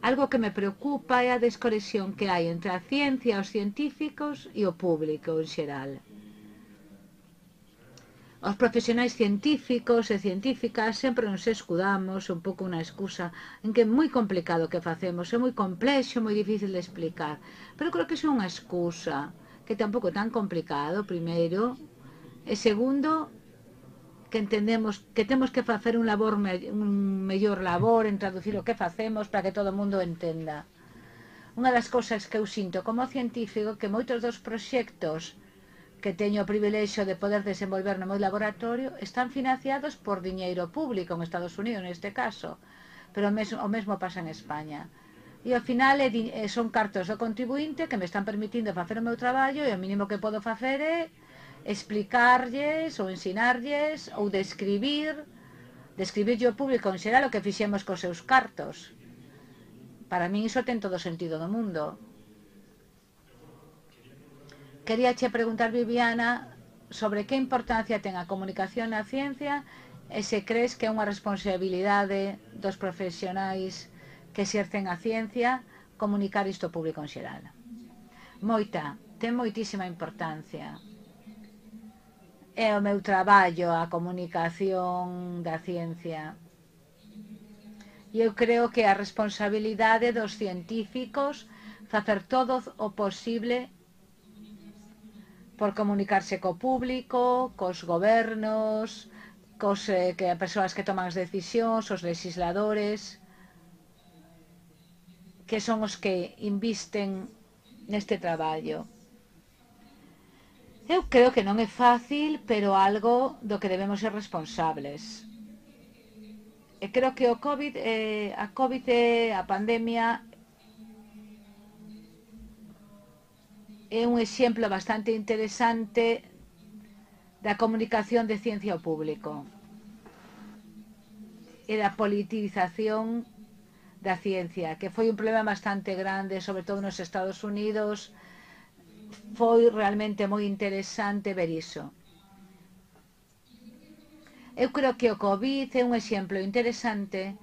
Algo que me preocupa é a desconexión que hai entre a ciencia, os científicos e o público en xeral. Os profesionais científicos e científicas sempre nos escudamos un pouco unha excusa en que é moi complicado o que facemos, é moi complexo, moi difícil de explicar. Pero creo que é unha excusa, que tampouco é tan complicado, primeiro, e segundo, que entendemos que temos que facer un mellor labor en traducir o que facemos para que todo o mundo entenda. Unha das cousas que eu sinto como científico que moitos dos proxectos que teño o privilexio de poder desenvolver no meu laboratorio están financiados por diñeiro público en Estados Unidos neste caso, pero o mesmo pasa en España. E ao final son cartos do contribuinte que me están permitindo facer o meu traballo e o mínimo que podo facer é explicarlles ou ensinarlles ou describirlle ao público en xeral o que fixemos cos seus cartos. Para min iso ten todo o sentido do mundo. Quería che preguntar, Viviana, sobre que importancia ten a comunicación na ciencia e se crees que é unha responsabilidade dos profesionais que exercen a ciencia comunicar isto ao público en xeral. Ten moitísima importancia. É o meu traballo a comunicación da ciencia. E eu creo que a responsabilidade dos científicos facer todo o posible por comunicarse co público, cos gobernos, que as persoas que toman as decisións, os legisladores, que son os que invisten neste traballo. Eu creo que non é fácil, pero algo do que debemos ser responsables. E creo que a pandemia é un exemplo bastante interesante da comunicación de ciencia ao público e da politización da ciencia, que foi un problema bastante grande, sobre todo nos Estados Unidos. Foi realmente moi interesante ver iso. Eu creo que o COVID é un exemplo interesante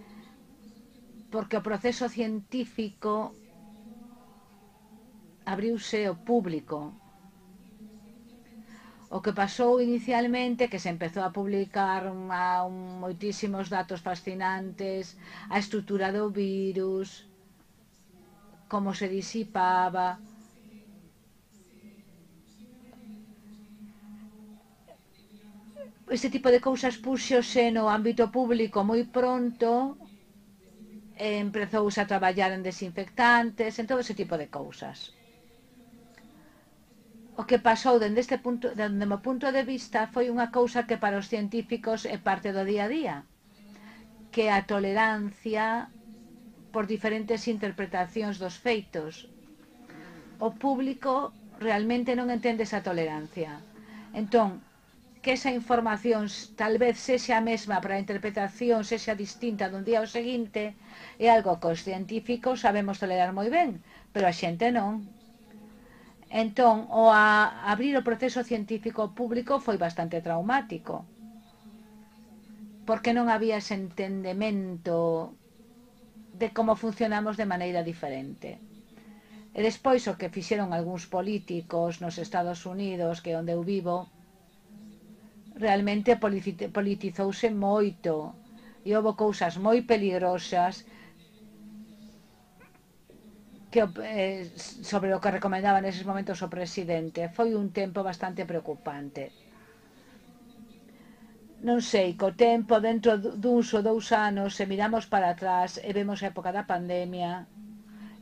porque o proceso científico abriuse ao público. O que pasou inicialmente, que se empezou a publicar moitísimos datos fascinantes, a estrutura do virus, como se disipaba. Este tipo de cousas puxose no ámbito público moi pronto, empezouse a traballar en desinfectantes, en todo ese tipo de cousas. O que pasou dende o meu punto de vista foi unha cousa que para os científicos é parte do día a día, que a tolerancia por diferentes interpretacións dos feitos. O público realmente non entende esa tolerancia. Entón, que esa información tal vez sexa a mesma para a interpretación, sexa distinta dun día ao seguinte, é algo que os científicos sabemos tolerar moi ben, pero a xente non. Entón, abrir o proceso científico público foi bastante traumático, porque non había ese entendemento de como funcionamos de maneira diferente. E despois o que fixeron algúns políticos nos Estados Unidos, que é onde eu vivo, realmente politizouse moito e houve cousas moi peligrosas que, sobre o que recomendaba neses momentos o presidente. Foi un tempo bastante preocupante. Non sei, co tempo, dentro duns ou 2 anos, se miramos para atrás e vemos a época da pandemia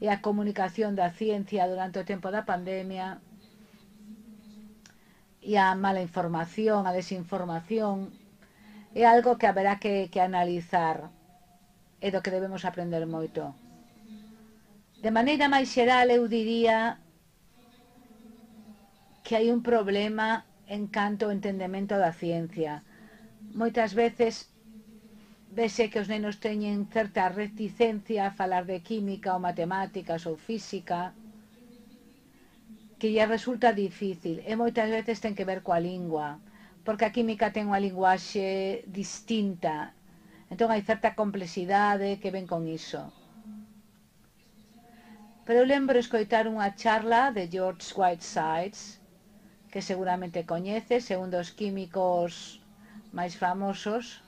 e a comunicación da ciencia durante o tempo da pandemia e a mala información, a desinformación, é algo que haberá que analizar e do que debemos aprender moito. De maneira máis xeral, eu diría que hai un problema en canto ao entendemento da ciencia. Moitas veces vese que os nenos teñen certa reticencia a falar de química ou matemáticas ou física, que lle resulta difícil e moitas veces ten que ver coa lingua, porque a química ten unha linguaxe distinta, entón hai certa complexidade que ven con iso. Pero eu lembro escoitar unha charla de George Whitesides, que seguramente coñeces, é un dos químicos máis famosos.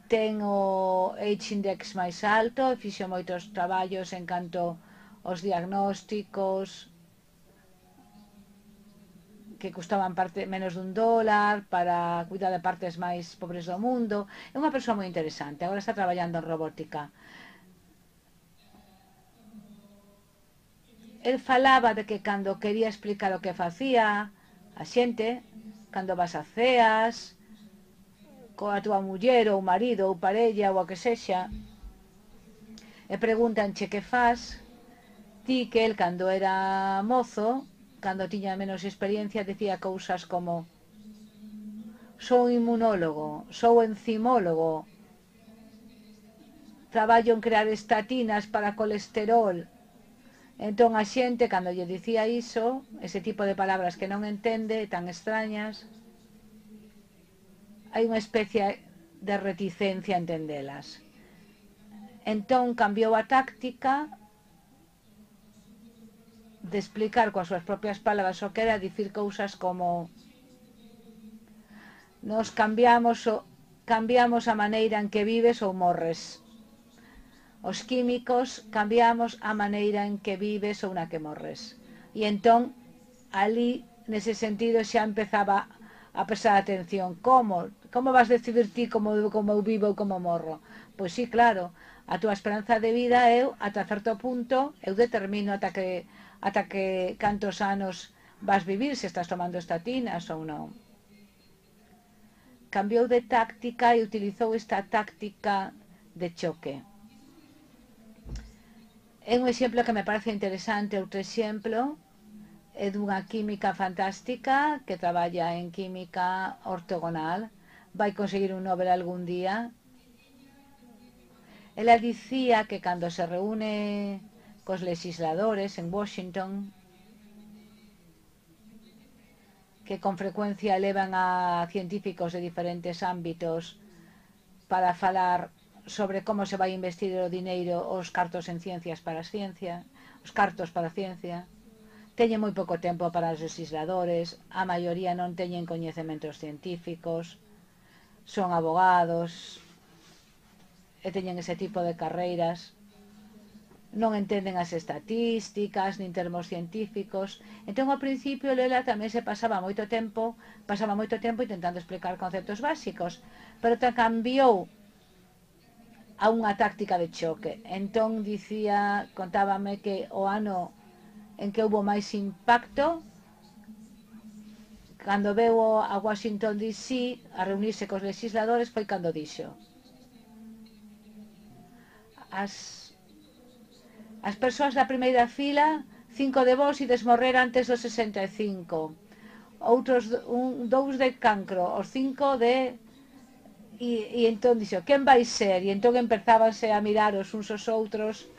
Ten o H-index máis alto e fixo moitos traballos en canto aos diagnósticos que custaban menos dun dólar para cuidar de partes máis pobres do mundo. É unha persoa moi interesante, agora está traballando en robótica. El falaba de que cando quería explicar o que facía a xente, cando vas a ceas, coa túa muller ou marido ou parella ou a que sexa, e pregúntanche que faz, ti que el cando era mozo, cando tiña menos experiencia, decía cousas como: sou inmunólogo, sou enzimólogo, traballo en crear estatinas para colesterol. Entón a xente, cando lle dicía iso, ese tipo de palabras que non entende, tan extrañas, hai unha especie de reticencia a entendelas. Entón cambiou a táctica de explicar coas súas propias palabras o que era dicir cousas como: nos cambiamos a maneira en que vives ou morres. Os químicos cambiamos a maneira en que vives ou na que morres. E entón, ali, nese sentido, xa empezaba a prestar atención. Como vas decidir ti como eu vivo ou como morro? Pois sí, claro, a túa esperanza de vida ata certo punto, eu determino ata que cantos anos vas vivir, se estás tomando estatinas ou non. Cambiou de táctica e utilizou esta táctica de choque. É un exemplo que me parece interesante. Outro exemplo é dunha química fantástica que traballa en química ortogonal, vai conseguir un Nobel algún día. Ela dicía que cando se reúne cos legisladores en Washington, que con frecuencia levan a científicos de diferentes ámbitos para falar sobre como se vai investir o dineiro, os cartos en ciencias para a ciencia, os cartos para a ciencia. Teñen moi pouco tempo para os legisladores, a maioría non teñen coñecementos científicos, son abogados e teñen ese tipo de carreiras, non entenden as estatísticas nin termos científicos. Entón ao principio Lela tamén se pasaba moito tempo intentando explicar conceptos básicos, pero cambiou a unha táctica de choque. Entón contábame que o ano en que houve máis impacto, cando veu a Washington DC a reunirse cos legisladores, foi cando dixo: as persoas da primeira fila, 5 de vos ides morrer antes dos 65, outros 2 de cancro, os 5 de... E entón dixo: quen vai ser? E entón empezábanse a mirar os uns aos outros.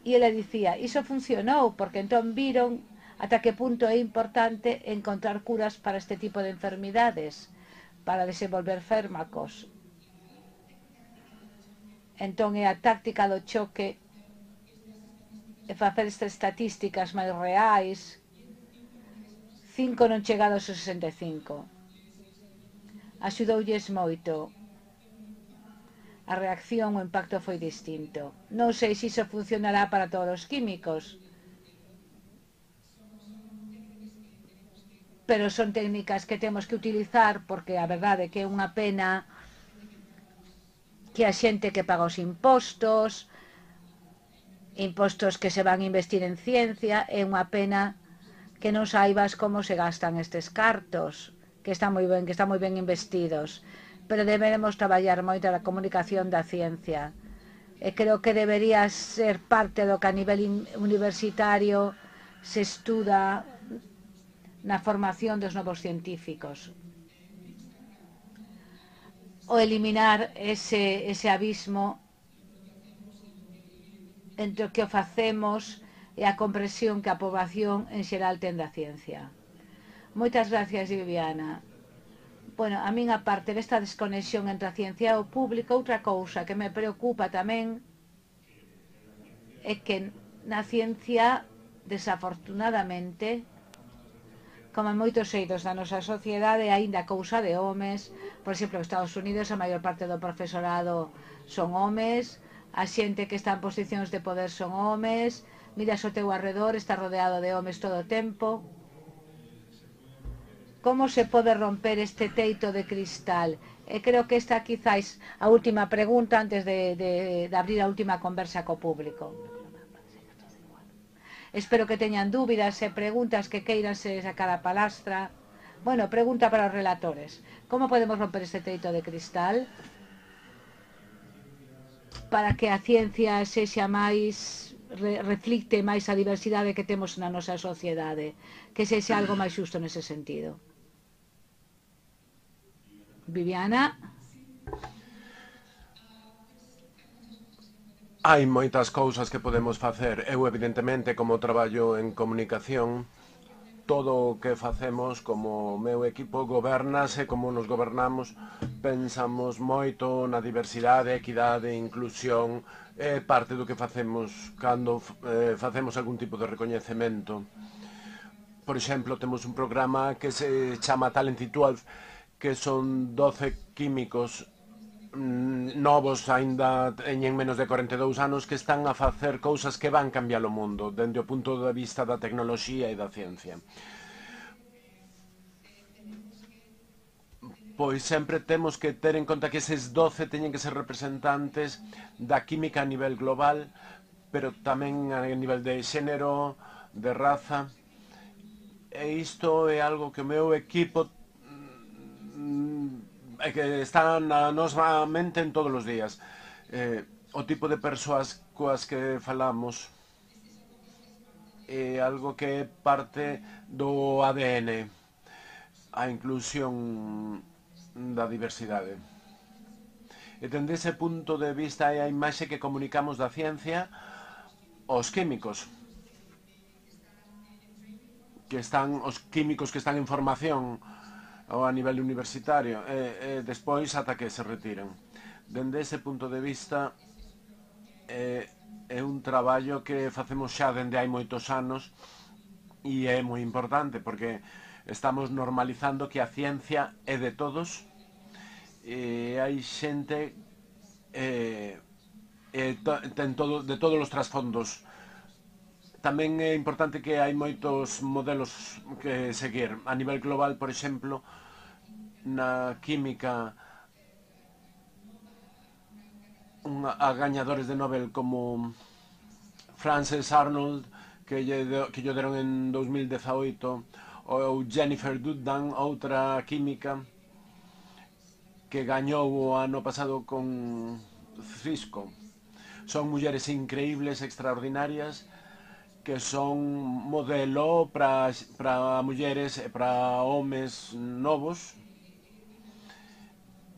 E ele dicía: iso funcionou, porque entón viron ata que punto é importante encontrar curas para este tipo de enfermidades, para desenvolver fármacos. Entón é a táctica do choque e facer estas estatísticas máis reais, 5 non chegados aos 65. Axudoulles moito. A reacción, o impacto foi distinto. Non sei se iso funcionará para todos os químicos, pero son técnicas que temos que utilizar porque a verdade é que é unha pena que a xente que paga os impostos que se van a investir en ciencia, é unha pena que non saibas como se gastan estes cartos, que están moi ben investidos, pero deberemos traballar moito a comunicación da ciencia. E creo que debería ser parte do que a nivel universitario se estuda na formación dos novos científicos. O eliminar ese abismo entre o que o facemos e a comprensión que a poboación en xeral ten da ciencia. Moitas gracias, Viviana. Bueno, a min, aparte desta desconexión entre a ciencia e o público, outra cousa que me preocupa tamén é que na ciencia, desafortunadamente, como en moitos eidos da nosa sociedade, aínda cousa de homes. Por exemplo, en Estados Unidos a maior parte do profesorado son homes, a xente que está en posicións de poder son homes, miras ao teu arredor, está rodeado de homes todo o tempo. Como se pode romper este teito de cristal? E creo que esta quizáis a última pregunta antes de abrir a última conversa co público. Espero que teñan dúbidas e preguntas que queiran se sacar a palastra. Bueno, pregunta para os relatores. Como podemos romper este teito de cristal para que a ciencia sexa máis, reflicte máis a diversidade que temos na nosa sociedade, que sexa algo máis xusto nese sentido? Viviana? Hai moitas cousas que podemos facer. Eu, evidentemente, como traballo en comunicación, todo o que facemos como meu equipo gobernase, como nos gobernamos, pensamos moito na diversidade, equidade, inclusión, é parte do que facemos cando facemos algún tipo de recoñecemento. Por exemplo, temos un programa que se chama Talented 12, que son 12 químicos novos, aínda teñen menos de 42 anos, que están a facer cousas que van cambiar o mundo dende o punto de vista da tecnoloxía e da ciencia. Pois sempre temos que ter en conta que eses 12 teñen que ser representantes da química a nivel global, pero tamén a nivel de xénero, de raza. E isto é algo que o meu equipo que está na nosa mente en todos os días. O tipo de persoas coas que falamos é algo que é parte do ADN, a inclusión da diversidade. E dende ese punto de vista é a imaxe que comunicamos da ciencia aos químicos, os químicos que están en formación ou a nivel universitario, e despois ata que se retiran. Dende ese punto de vista é un traballo que facemos xa dende hai moitos anos e é moi importante porque estamos normalizando que a ciencia é de todos e hai xente de todos os trasfondos. Tamén é importante que hai moitos modelos que seguir. A nivel global, por exemplo, na química, a gañadores de Nobel como Frances Arnold, que lle deron en 2018, ou Jennifer Doudna, outra química, que gañou o ano pasado con Cisco. Son mulleres increíbles, extraordinarias, que son modelo para mulleres e para homes novos.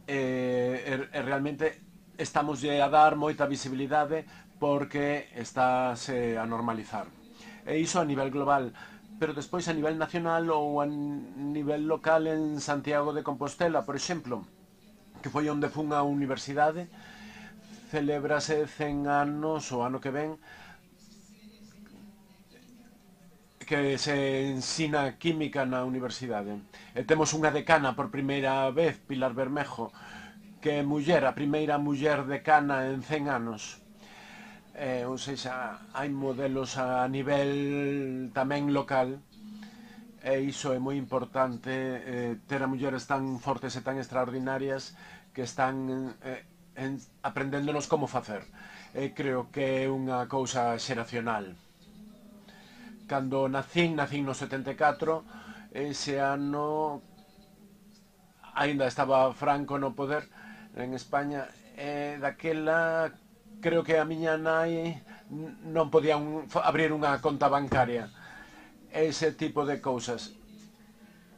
Realmente estamos a dar moita visibilidade porque estáse a normalizar. E iso a nivel global, pero despois a nivel nacional ou a nivel local en Santiago de Compostela, por exemplo, que foi onde fun a universidade, celébrase 100 anos o ano que ven que se ensina química na universidade. E temos unha decana por primeira vez, Pilar Bermejo, que é muller, a primeira muller decana en 100 anos. Ou seja, hai modelos a nivel tamén local, e iso é moi importante, ter a mulleres tan fortes e tan extraordinarias que están aprendéndonos como facer. Creo que é unha cousa xeracional. Cando nacín no 74, ese ano aínda estaba Franco no poder en España, e daquela creo que a miña nai non podía abrir unha conta bancaria. Ese tipo de cousas.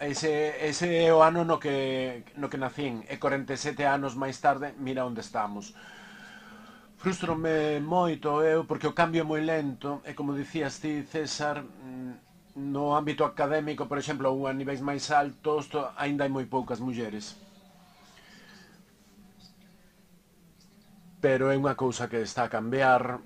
Ese é o ano no que nacín, e 47 anos máis tarde, mira onde estamos. Frústrome moito eu, porque o cambio é moi lento, e como dicías ti, César, no ámbito académico, por exemplo, ou a niveis máis altos, aínda hai moi poucas mulleres. Pero é unha cousa que está a cambiar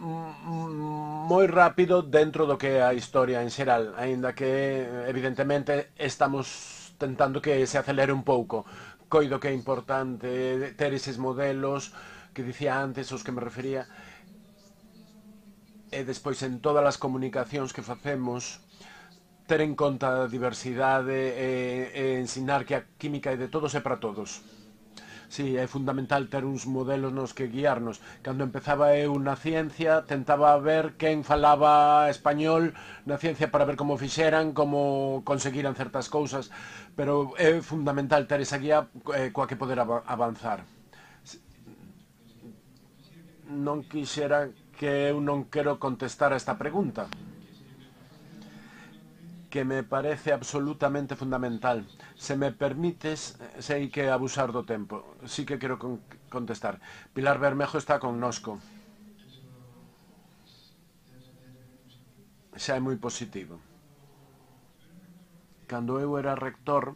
moi rápido dentro do que é a historia en xeral, aínda que evidentemente estamos tentando que se acelere un pouco. Coido que é importante ter eses modelos que dicía antes, aos que me refería, e despois en todas as comunicacións que facemos ter en conta a diversidade e ensinar que a química é de todos e para todos. Sí, é fundamental ter uns modelos nos que guiarnos. Cando empezaba eu na ciencia, tentaba ver quen falaba español na ciencia para ver como fixeran, como conseguiran certas cousas, pero é fundamental ter esa guía coa que poder avanzar. Non quixera que eu non quero contestar a esta pregunta, que me parece absolutamente fundamental. Se me permites, sei que abusar do tempo. Sí que quero contestar. Pilar Bermejo está connosco. Xa é moi positivo. Cando eu era rector,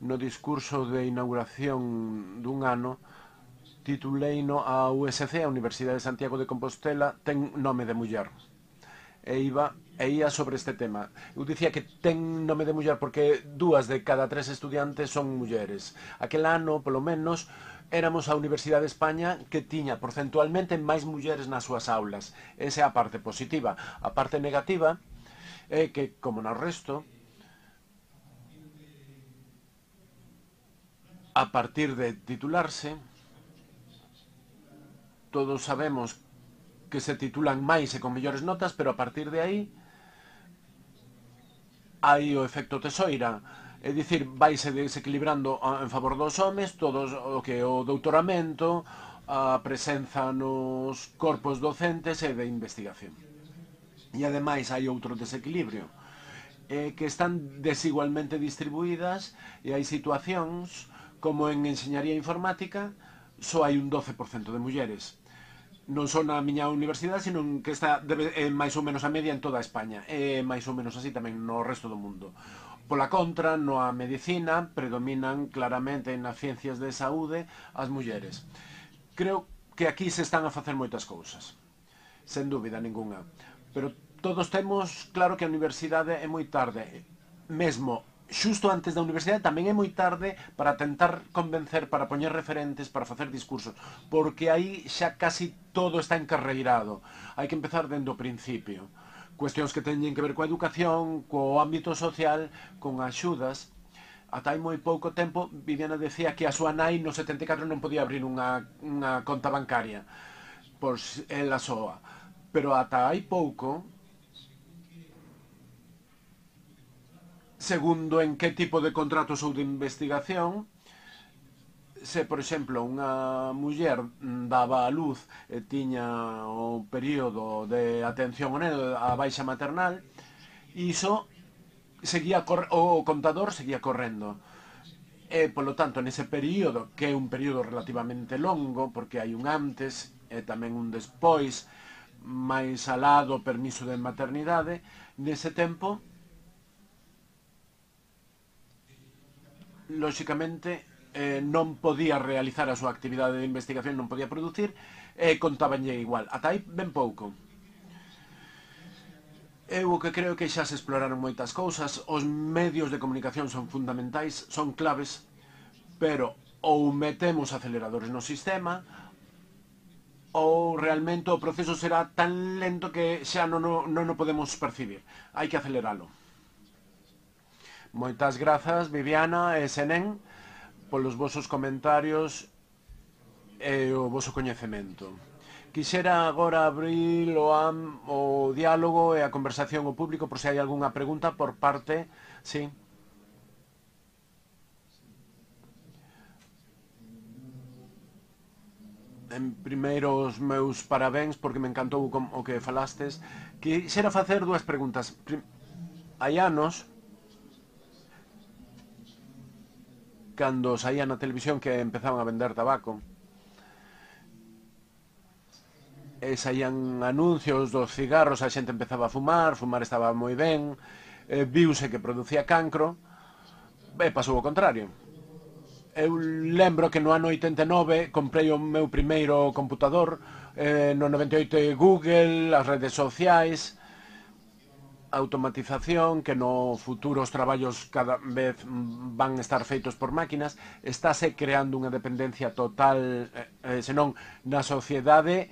no discurso de inauguración dun ano, tituleino a USC, a Universidade de Santiago de Compostela, ten nome de muller. E ia sobre este tema. Eu dicía que ten nome de muller porque 2 de cada 3 estudiantes son mulleres. Aquel ano, polo menos, éramos a Universidade de España que tiña porcentualmente máis mulleres nas súas aulas. Esa é a parte positiva. A parte negativa é que, como no resto, a partir de titularse, todos sabemos que se titulan máis e con mellores notas, pero a partir de aí hai o efecto tesoira, é dicir, vaise desequilibrando en favor dos homes todos o que é o doutoramento, a presenza nos corpos docentes e de investigación. E ademais hai outro desequilibrio, que están desigualmente distribuídas, e hai situacións como en enxeñaría informática só hai un 12% de mulleres. Non só na miña universidade, sino que está máis ou menos a media en toda España, e máis ou menos así tamén no resto do mundo. Pola contra, na medicina predominan claramente nas ciencias de saúde as mulleres. Creo que aquí se están a facer moitas cousas, sen dúbida ningunha, pero todos temos claro que a universidade é moi tarde, mesmo xusto antes da universidade tamén é moi tarde para tentar convencer, para poñer referentes, para facer discursos, porque aí xa casi todo está encarreirado. Hai que empezar dende o principio. Cuestións que teñen que ver coa educación, co ámbito social, con axudas. Ata hai moi pouco tempo, Viviana decía que a súa nai no 74 non podía abrir unha conta bancaria, pois ela soa. Pero ata hai pouco, segundo en que tipo de contratos ou de investigación, se, por exemplo, unha muller daba a luz e tiña o período de atención ao neno, a baixa maternal, iso seguía o contador seguía correndo. E, polo tanto, nese período, que é un período relativamente longo, porque hai un antes e tamén un despois, máis alado permiso de maternidade, nese tempo, lóxicamente, non podía realizar a súa actividade de investigación, non podía producir, e contabanlle igual. Ata aí ben pouco. Eu o que creo que xa se exploraron moitas cousas, os medios de comunicación son fundamentais, son claves, pero ou metemos aceleradores no sistema, ou realmente o proceso será tan lento que xa non o podemos percibir. Hai que aceleralo. Moitas grazas, Viviana e Senén, polos vosos comentarios e o voso coñecemento. Quixera agora abrir o diálogo e a conversación ao público por se hai algunha pregunta por parte... Sí. En primeiro, os meus parabéns porque me encantou o que falastes. Quixera facer dúas preguntas. Hai anos, cando saía na televisión que empezaban a vender tabaco, saían anuncios dos cigarros, a xente empezaba a fumar estaba moi ben, viuse que producía cancro, e pasou o contrario. Eu lembro que no ano 89 comprei o meu primeiro computador, no 98 Google, as redes sociais, automatización, que no futuro os traballos cada vez van estar feitos por máquinas, estáse creando unha dependencia total, senón na sociedade,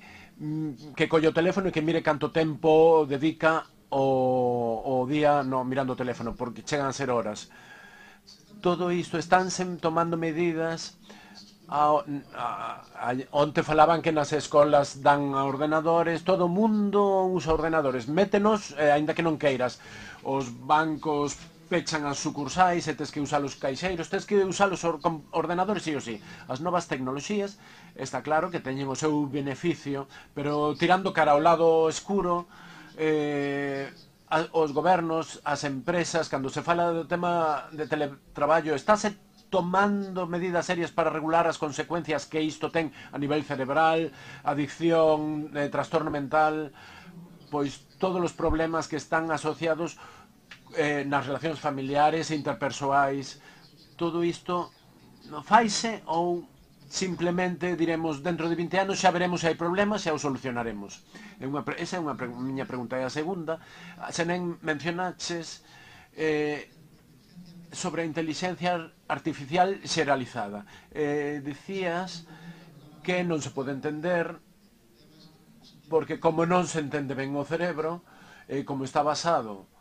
que colle o teléfono e que mire canto tempo dedica o día mirando o teléfono, porque chegan a ser horas. Todo isto estánse tomando medidas. Onte falaban que nas escolas dan ordenadores, todo o mundo usa ordenadores, métenos, aínda que non queiras. Os bancos pechan as sucursais e tes que usar os caixeiros, tes que usar os ordenadores sí ou sí. As novas tecnoloxías, está claro que teñen o seu beneficio, pero tirando cara ao lado escuro, os gobernos, as empresas, cando se fala do tema de teletraballo, estáse tomando medidas serias para regular as consecuencias que isto ten a nivel cerebral, adicción, trastorno mental, pois todos os problemas que están asociados nas relacións familiares e interpersoais. Todo isto faise ou simplemente diremos dentro de 20 anos xa veremos se hai problemas e xa o solucionaremos. Esa é unha miña pregunta. E a segunda, se non mencionaches sobre a inteligencia artificial xeralizada. Dicías que non se pode entender porque como non se entende ben o cerebro, como está baseado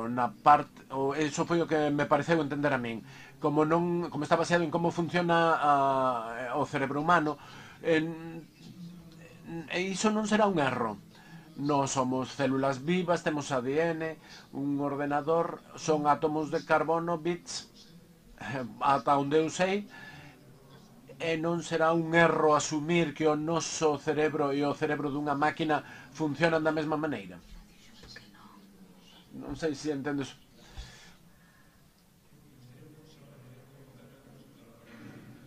na parte, eso foi o que me pareceu entender a min, como está baseado en como funciona o cerebro humano, e iso non será un erro. Nós somos células vivas, temos ADN, un ordenador son átomos de carbono, bits, ata onde eu sei, e non será un erro asumir que o noso cerebro e o cerebro dunha máquina funcionan da mesma maneira. Non sei se entendes.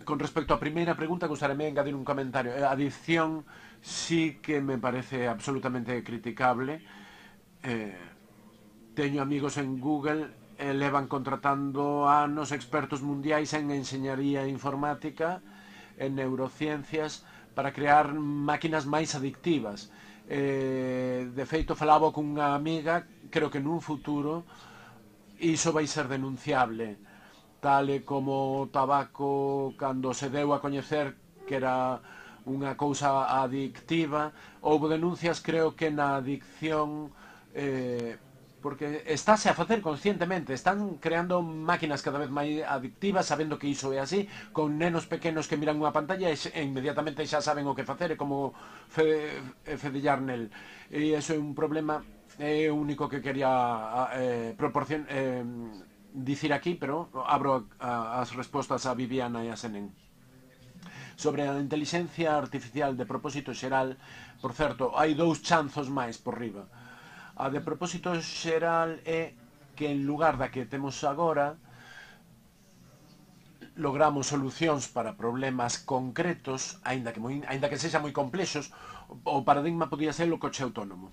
Con respecto á primeira pregunta, gostaríame engadir un comentario. A adicción sí que me parece absolutamente criticable. Teño amigos en Google e levan contratando anos expertos mundiais en enxeñaría informática, en neurociencias, para crear máquinas máis adictivas. De feito, falaba cunha amiga, creo que nun futuro iso vai ser denunciable, tal e como o tabaco cando se deu a coñecer que era unha cousa adictiva. Houve denuncias, creo que na adicción, porque estáse a facer conscientemente, están creando máquinas cada vez máis adictivas, sabendo que iso é así, con nenos pequenos que miran unha pantalla e inmediatamente xa saben o que facer e como fedellar nel. E iso é un problema, é o único que quería dicir aquí, pero abro as respostas a Viviana e a Senén. Sobre a inteligencia artificial de propósito xeral, por certo, hai dous chanzos máis por riba. A de propósito xeral é que en lugar da que temos agora, logramos solucións para problemas concretos, aínda que sexan moi complexos. O paradigma podía ser o coche autónomo.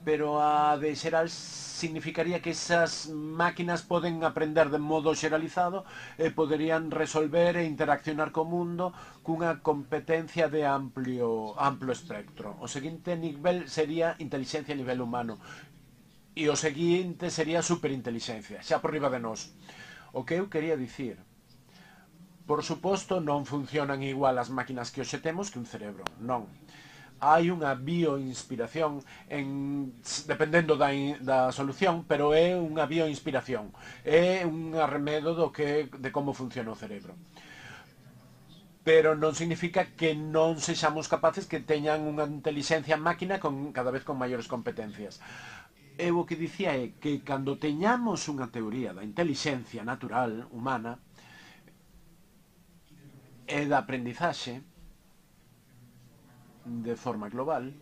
pero a de xeral significaría que esas máquinas poden aprender de modo xeralizado e poderían resolver e interaccionar co mundo cunha competencia de amplo espectro. O seguinte nivel sería inteligencia a nivel humano e o seguinte sería superinteligencia, xa por riba de nós. O que eu quería dicir, por suposto, non funcionan igual as máquinas que hoxe temos que un cerebro, non. Hai unha bioinspiración dependendo da solución, pero é unha bioinspiración. É un arremedo de como funciona o cerebro. Pero non significa que non sexamos capaces que teñan unha inteligencia máquina cada vez con maiores competencias. Eu o que dicía é que cando teñamos unha teoría da inteligencia natural humana e da aprendizaxe de forma global,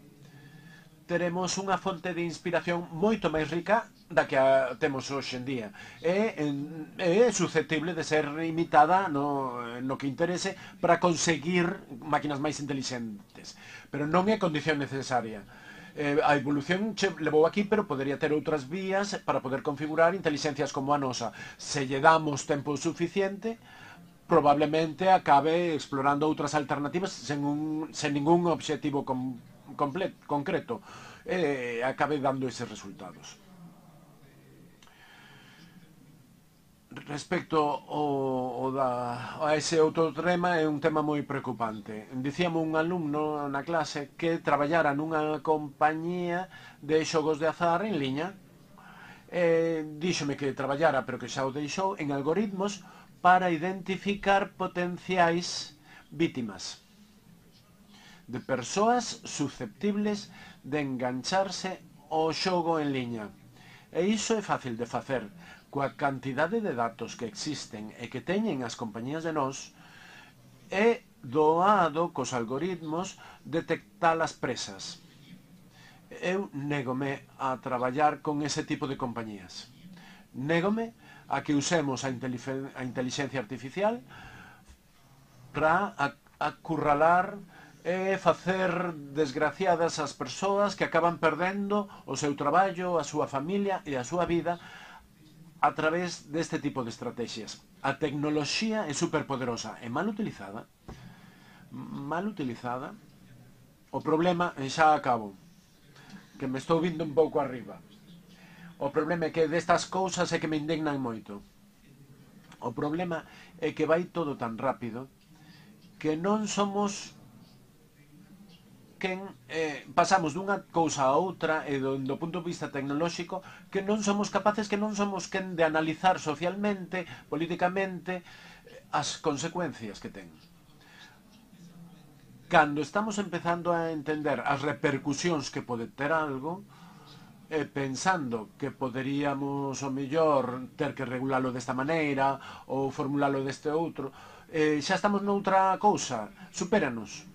teremos unha fonte de inspiración moito máis rica da que temos hoxe en día. É susceptible de ser imitada no que interese para conseguir máquinas máis inteligentes. Pero non é condición necesaria. A evolución levou aquí, pero podería ter outras vías para poder configurar inteligencias como a nosa. Se lle damos tempo suficiente, probablemente acabe explorando outras alternativas sen ningún obxectivo concreto, acabe dando eses resultados. Respecto a ese outro tema, é un tema moi preocupante. Dicíamos un alumno na clase que traballara nunha compañía de xogos de azar en liña. Díxome que traballara, pero que xa o deixou, en algoritmos para identificar potenciais vítimas de persoas susceptibles de engancharse ao xogo en liña. E iso é fácil de facer. Coa cantidade de datos que existen e que teñen as compañías de nós, é doado cos algoritmos detectar as presas. Eu négome a traballar con ese tipo de compañías. Négome a que usemos a inteligencia artificial para acurralar e facer desgraciadas as persoas que acaban perdendo o seu traballo, a súa familia e a súa vida a través deste tipo de estrategias. A tecnoloxía é superpoderosa e mal utilizada. O problema, e xa acabo, que me estou vindo un pouco arriba. O problema é que destas cousas é que me indignan moito. O problema é que vai todo tan rápido que non somos pasamos dunha cousa a outra e do punto de vista tecnolóxico que non somos capaces, que non somos quen de analizar socialmente, políticamente as consecuencias que ten. Cando estamos empezando a entender as repercusións que pode ter algo, pensando que poderíamos, o mellor, ter que regulalo desta maneira ou formulalo deste outro, xa estamos noutra cousa, supéranos.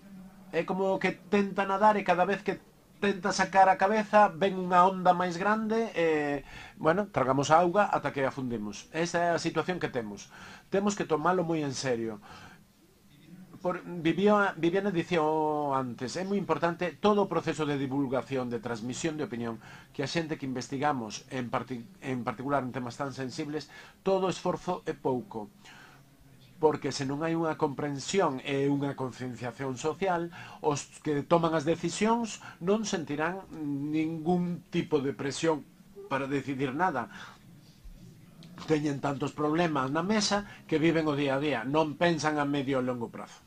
É como que tenta nadar e cada vez que tenta sacar a cabeza ven unha onda máis grande e, bueno, tragamos a auga ata que afundimos. Esa é a situación que temos. Temos que tomalo moi en serio. Viviana dicía antes, é moi importante todo o proceso de divulgación, de transmisión de opinión, que a xente que investigamos, en particular en temas tan sensibles, todo esforzo é pouco. Porque se non hai unha comprensión e unha concienciación social, os que toman as decisións non sentirán ningún tipo de presión para decidir nada. Teñen tantos problemas na mesa que viven o día a día, non pensan a medio e longo prazo.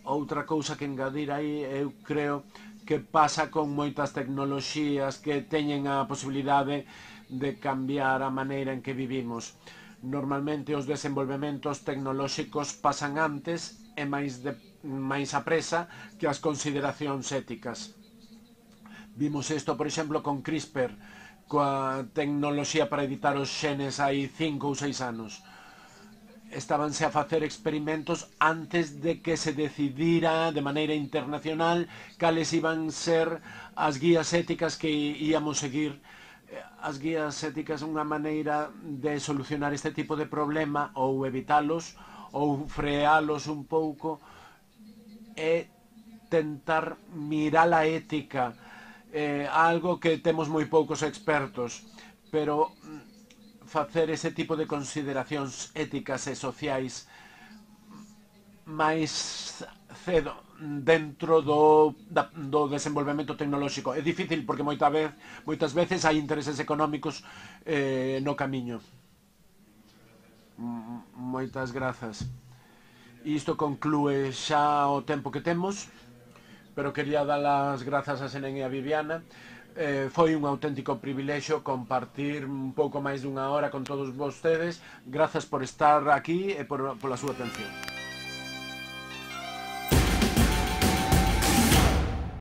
Outra cousa que engadir aí, eu creo que pasa con moitas tecnoloxías que teñen a posibilidade de cambiar a maneira en que vivimos. Normalmente os desenvolvementos tecnolóxicos pasan antes e máis a presa que as consideracións éticas. Vimos isto, por exemplo, con CRISPR, coa tecnoloxía para editar os xenes hai 5 ou 6 anos. Estábanse a facer experimentos antes de que se decidira de maneira internacional cales iban ser as guías éticas que íamos seguir. As guías éticas é unha maneira de solucionar este tipo de problema ou evitalos ou frealos un pouco e tentar mirar a ética, algo que temos moi poucos expertos, pero facer ese tipo de consideracións éticas e sociais máis cedo dentro do desenvolvemento tecnolóxico. É difícil porque moitas veces hai intereses económicos no camiño. Moitas grazas. Isto conclúe xa o tempo que temos, pero quería dar as grazas a Senén e a Viviana. Foi un auténtico privilexio compartir un pouco máis dunha hora con todos vostedes. Grazas por estar aquí e pola súa atención.